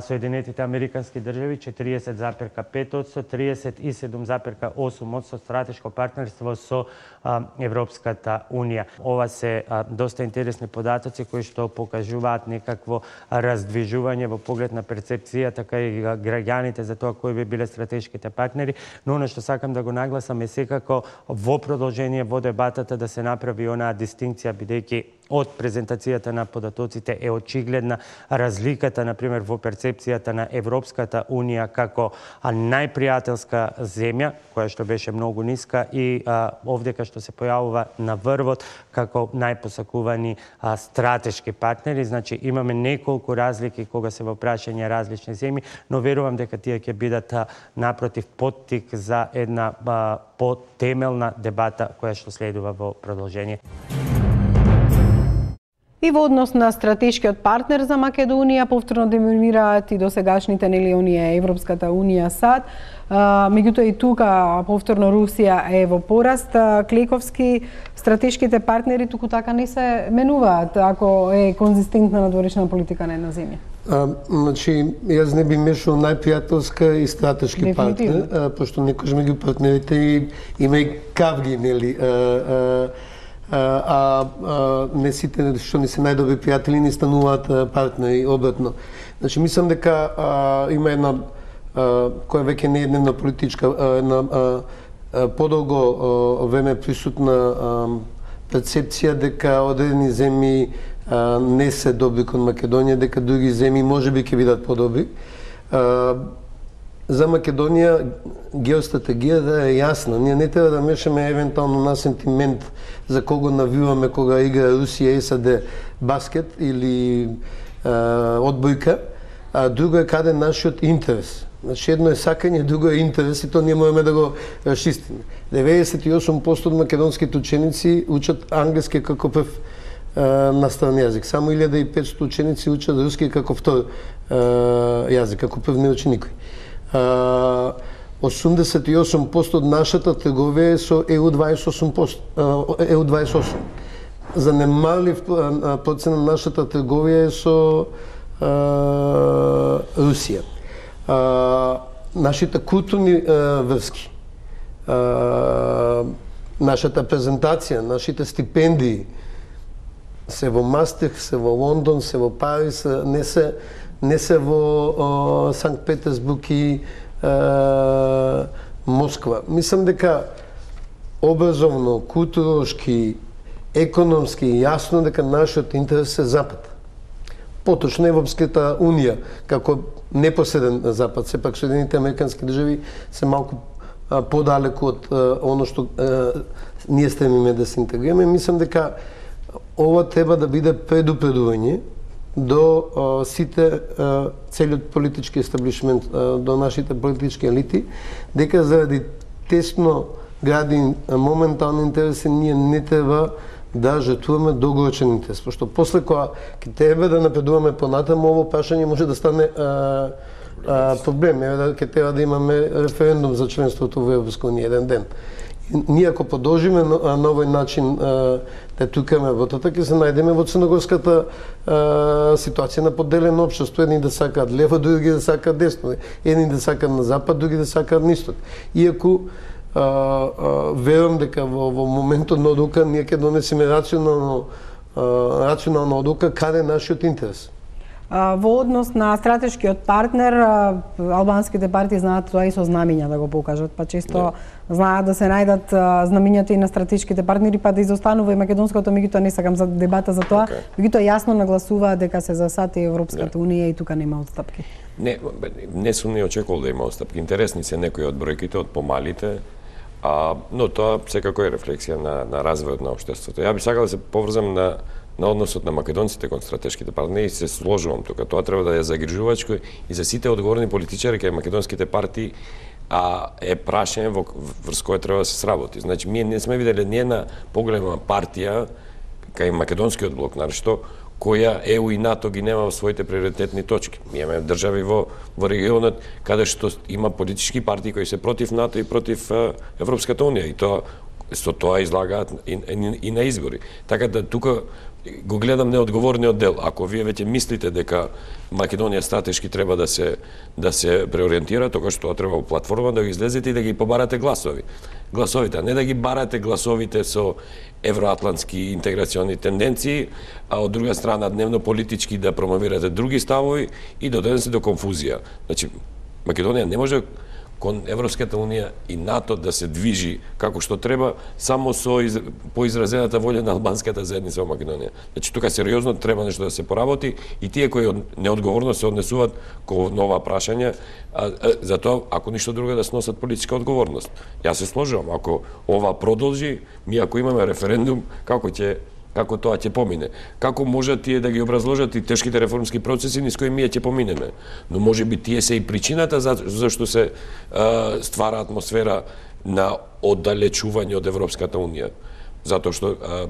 Соединетите Американски држави четириесет запирка пет одсто, триесет и седум запирка осум одсто стратешко партнерство со а, Европската Унија. Ова се а, доста интересни податоци кои што покажуваат некакво раздвижување во поглед на перцепцијата кај граѓаните за тоа кои би биле стратешките партнери, но она што сакам да го нагласам е секако во продолжение во дебатата да се направи онаа дистинкција, бидејќи од презентацијата на податоците е очигледна разликата, например, во перцепцијата на Европската Унија како најпријателска земја, која што беше многу ниска, и а, овдека што се појавува на врвот како најпосакувани а, стратешки партнери. Значи, имаме неколку разлики кога се во прашање различни земји, но верувам дека тие ќе бидат а, напротив поттик за една а, потемелна дебата која што следува во продолжение. И во однос на стратешкиот партнер за Македонија, повторно демонираат и досегашните нели оние Европската Унија САД. Меѓутоа и тука повторно Русија е во пораст. Клековски, стратешките партнери туку така не се менуваат ако е конзистентна надворешна политика на една земја. А, значи, јас не би мешал најпријателска и стратешки партнер, а, пошто некојаш меѓу партнерите и има и кавги, нели, а, а, а, а не сите што не се најдобри пријатели не стануваат партнери обратно. Значи мислам дека а, има една а, која веќе не е една политичка, а, една а, а, подолго време присутна а, перцепција дека одредени земји а, не се добри кон Македонија, дека други земји можеби ќе бидат подобри. А, За Македонија геостратегијата е јасна. Ние не треба да мешаме евентуално на сентимент за кого навиваме кога игра Русија и САД баскет или е, одбојка, а друго е каде нашиот интерес. Значи едно е сакање, друго е интерес и тоа ние можеме да го расчистиме. деветдесет и осум проценти од македонските ученици учат англиски како прв е, настранен јазик. Само илјада и петстотини ученици учат руски како втор е, јазик, како прв не учи никој. осумдесет и осум проценти од нашата трговија е со Е У дваесет и осум проценти, Е У дваесет и осум. Занемалив процент на нашата трговија е со а, Русија. А, нашите културни а, врски, а, нашата презентација, нашите стипендии се во Мастрихт, се во Лондон, се во Париз, не се не се во Санкт Петерсбург и е, Москва. Мислам дека образовно, културолошки, економски јасно дека нашиот интерес е Запад. Поточно Европската Унија како непосреден Запад, сепак Соединените Американски држави се малку а, подалеку од а, оно што а, ние стремиме да се интегрираме. Мислам дека ова треба да биде предупредување до а, сите а, целиот политички естаблишмент, а, до нашите политички елити, дека заради тесно гради моментални интереси ние не треба да жртвуваме долгорочен интерес, пошто после кога ќе треба да напредуваме понатаму, ово прашање може да стане а, а, проблем, еве да ќе треба да имаме референдум за членството во Европска унија еден ден. Ние ако продолжиме на, на овој начин а, да тукаме работата, ќе се најдеме во црногорската а, ситуација на поделено општество. Едни да сакаат лево, други да сакаат десно. Едни да сакаат на запад, други да сакаат на исток. Иако а, а, верувам дека во, во моментот на одлука ние ќе донесеме рационално, а, рационална одлука каде е нашиот интерес. во однос на стратешкиот партнер, албанските партии знаат тоа и со знамиња да го покажат, па често yeah. знаат да се најдат знамињата и на стратешките партнери, па да изостанува и македонското, меѓутоа не сакам за дебата за тоа, okay. меѓутоа јасно нагласуваат дека се за САД и Европската yeah. унија и тука нема отстапки. Не, не сум не очекувал да има отстапки. Интересни се некои од бројките, од помалите, а, но тоа секако е рефлексија на, на развојот на општеството. Ја би сакал да се поврзам на на односот на македонците кон стратешките партнери и се сложувам тука. Тоа треба да е загрижувачко и за сите одговорни политичари кај македонските партии, а е прашање во врз кое треба да се сработи. Значи, ние не сме виделе ни една поголема партија кај македонскиот блок, нашто која Е У и НАТО ги нема во своите приоритетни точки. Ние имаме држави во, во регионот каде што има политички партии кои се против НАТО и против uh, Европската унија и тоа со тоа излагаат и, и, и на избори. Така да тука го гледам неодговорниот дел. Ако вие веќе мислите дека Македонија стратешки треба да се да се преориентира, тогаш тоа треба во платформа да ги излезете и да ги побарате гласови. Гласовите, а не да ги барате гласовите со евроатлантски интеграциони тенденции, а од друга страна дневно политички да промовирате други ставови и да донесе до конфузија. Значи, Македонија не може кон Европската унија и НАТО да се движи како што треба само со из... поизразената волја на албанската заедница во Македонија. Значи тука сериозно треба нешто да се поработи и тие кои неодговорно се однесуваат кон нова прашања, а, а, затоа ако ништо друго да сносат политичка одговорност. Јас се сложувам, ако ова продолжи, ми ако имаме референдум, како ќе како тоа ќе помине. Како можат тие да ги образложат и тешките реформски процеси низ кои ние ќе поминеме. Но може би тие се и причината за, зашто се а, ствара атмосфера на оддалечување од Европската унија. Затоа што а,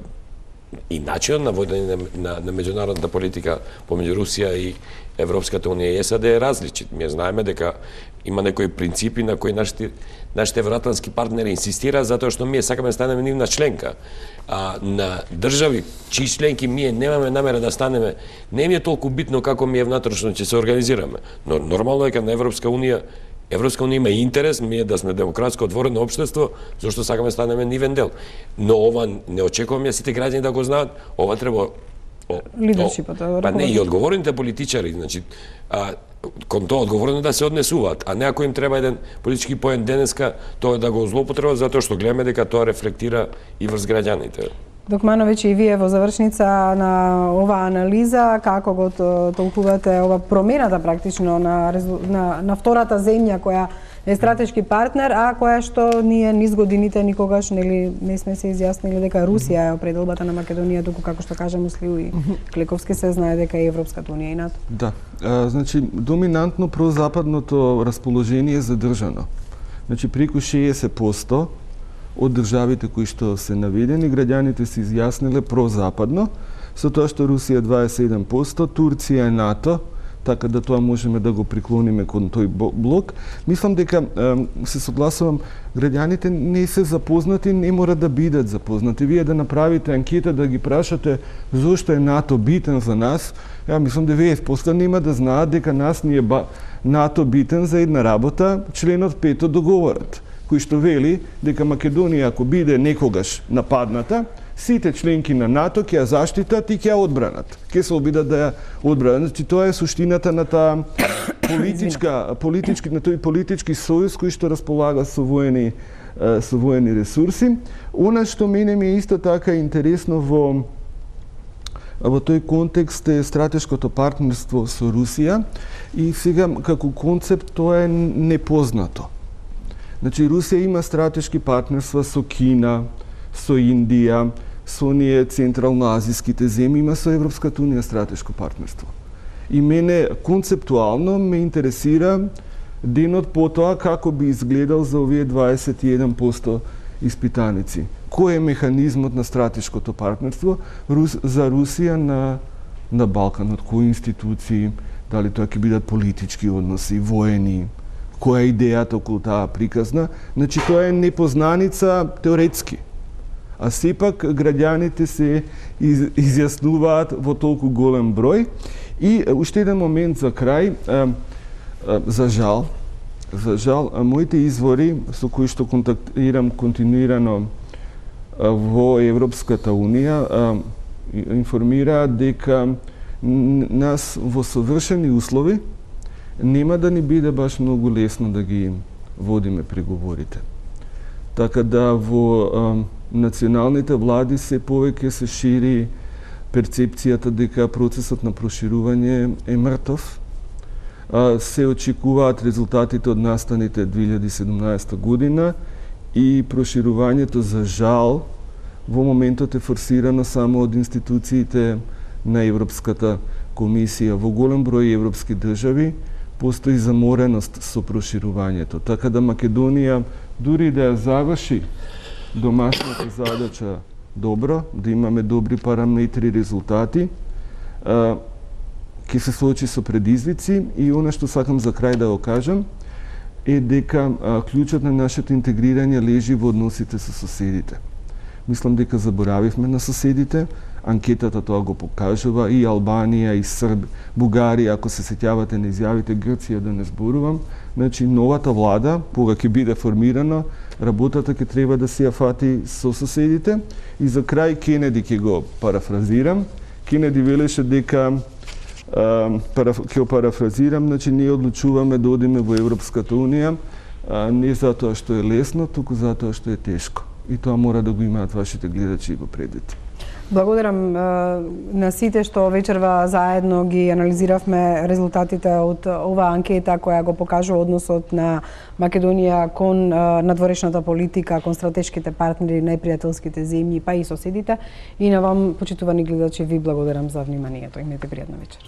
и начинот на водење на, на, на меѓународната политика помеѓу Русија и Европската унија и САД е различит. Ние знаеме дека има некои принципи на кои нашите нашите евроатлантски партнери инсистираат затоа што ние сакаме да станеме нивна членка. А на држави чии членки ние немаме намера да станеме, не ми е толку битно како ми е внатрешно ќе се организираме. Но нормално е дека на Европска унија Европска унија има интерес ние да сме демократско отворено општество, зашто сакаме да станеме нивен дел. Но ова не очекувам ја сите граѓани да го знаат, ова треба лидершипот. Па не и одговорните политичари, значи а, кон тоа одговорно да се однесуваат, а не ако им треба еден политички поен денеска, тоа да го злоупотребат затоа што гледаме дека тоа рефлектира и врз граѓаните. Докмановиќ, и вие во завршница на оваа анализа, како го толкувате ова промената практично на, на, на втората земја која е стратешки партнер, а која што ние низ годините никогаш нели не сме се изјаснили дека Русија е определбата на Македонија, туку како што кажа Муслиу и Клековски се знае дека е Европската унија и НАТО. Да, а, значи доминантно прозападното расположение е задржано. Значи преку шеесет проценти од државите кои што се наведени, граѓаните се изјасниле прозападно, со тоа што Русија дваесет и седум проценти, Турција и НАТО, така да тоа можеме да го приклониме кон тој блок. Мислам дека се согласувам, граѓаните не се запознати, не мора да бидат запознати. Вие да направите анкета, да ги прашате зошто е НАТО битен за нас, ја мислам деветдесет проценти нема да знаат дека нас ни е НАТО битен за една работа, членот пет од договорот, кој што вели дека Македонија ако биде некогаш нападната, сите членки на НАТО ќе ја заштитат и ќе ја одбранат. Ќе се обидат да ја одбранат. Значи тоа е суштината на таа политичка политички на тој политички сојуз кој што располага со воени со воени ресурси. Она што мене ми е исто така интересно во во тој контекст е стратешкото партнерство со Русија и сега како концепт тоа е непознато. Значи Русија има стратешки партнерства со Кина, со Индија, со оние централноазиските земји, има со Европската унија стратешко партнерство. И мене концептуално ме интересира денот потоа како би изгледал за овие дваесет и еден проценти испитаници. Кој е механизмот на стратешкото партнерство Рус, за Русија на, на Балканот? Кои институции? Дали тоа ќе бидат политички односи, воени? Која е идејата околу таа приказна? Значи тоа е непознаница теоретски. А сепак граѓаните се из, изјаснуваат во толку голем број. И уште еден момент за крај, а, а, за жал, за жал, а, моите извори со кои што контактирам континуирано а, во Европската унија а, информираат дека нас во совршени услови нема да ни биде баш многу лесно да ги водиме преговорите. Така да во а, националните влади се повеќе се шири перцепцијата дека процесот на проширување е мртов. А, се очекуваат резултатите од настаните две илјади и седумнаесета година и проширувањето за жал во моментот е форсирано само од институциите на Европската комисија. Во голем број европски држави постои замореност со проширувањето. Така да Македонија, дури да ја заврши домашната задача добро, да имаме добри параметри, резултати, ќе се соочи со предизвици и она што сакам за крај да го кажам е дека клучот на нашето интегрирање лежи во односите со соседите. Мислам дека заборавивме на соседите, анкетата тоа го покажува, и Албанија, и Срб, Бугарија, ако се сеќавате на изјавите, Грција да не зборувам. Значи, новата влада, кога ќе биде формирана, работата ќе треба да се ја фати со соседите. И за крај Кенеди ќе го парафразирам. Кенеди велеше дека, ќе го парафразирам, значи ние одлучуваме да одиме во Европската унија, не затоа што е лесно, туку затоа што е тешко. И тоа мора да го имаат вашите гледачи во предвид. Благодарам на сите што вечерва заедно ги анализиравме резултатите од оваа анкета која го покажува односот на Македонија кон надворешната политика, кон стратешките партнери, најпријателските земји, па и соседите. И на вам, почитувани гледачи, ви благодарам за вниманието. Имете пријатна вечер.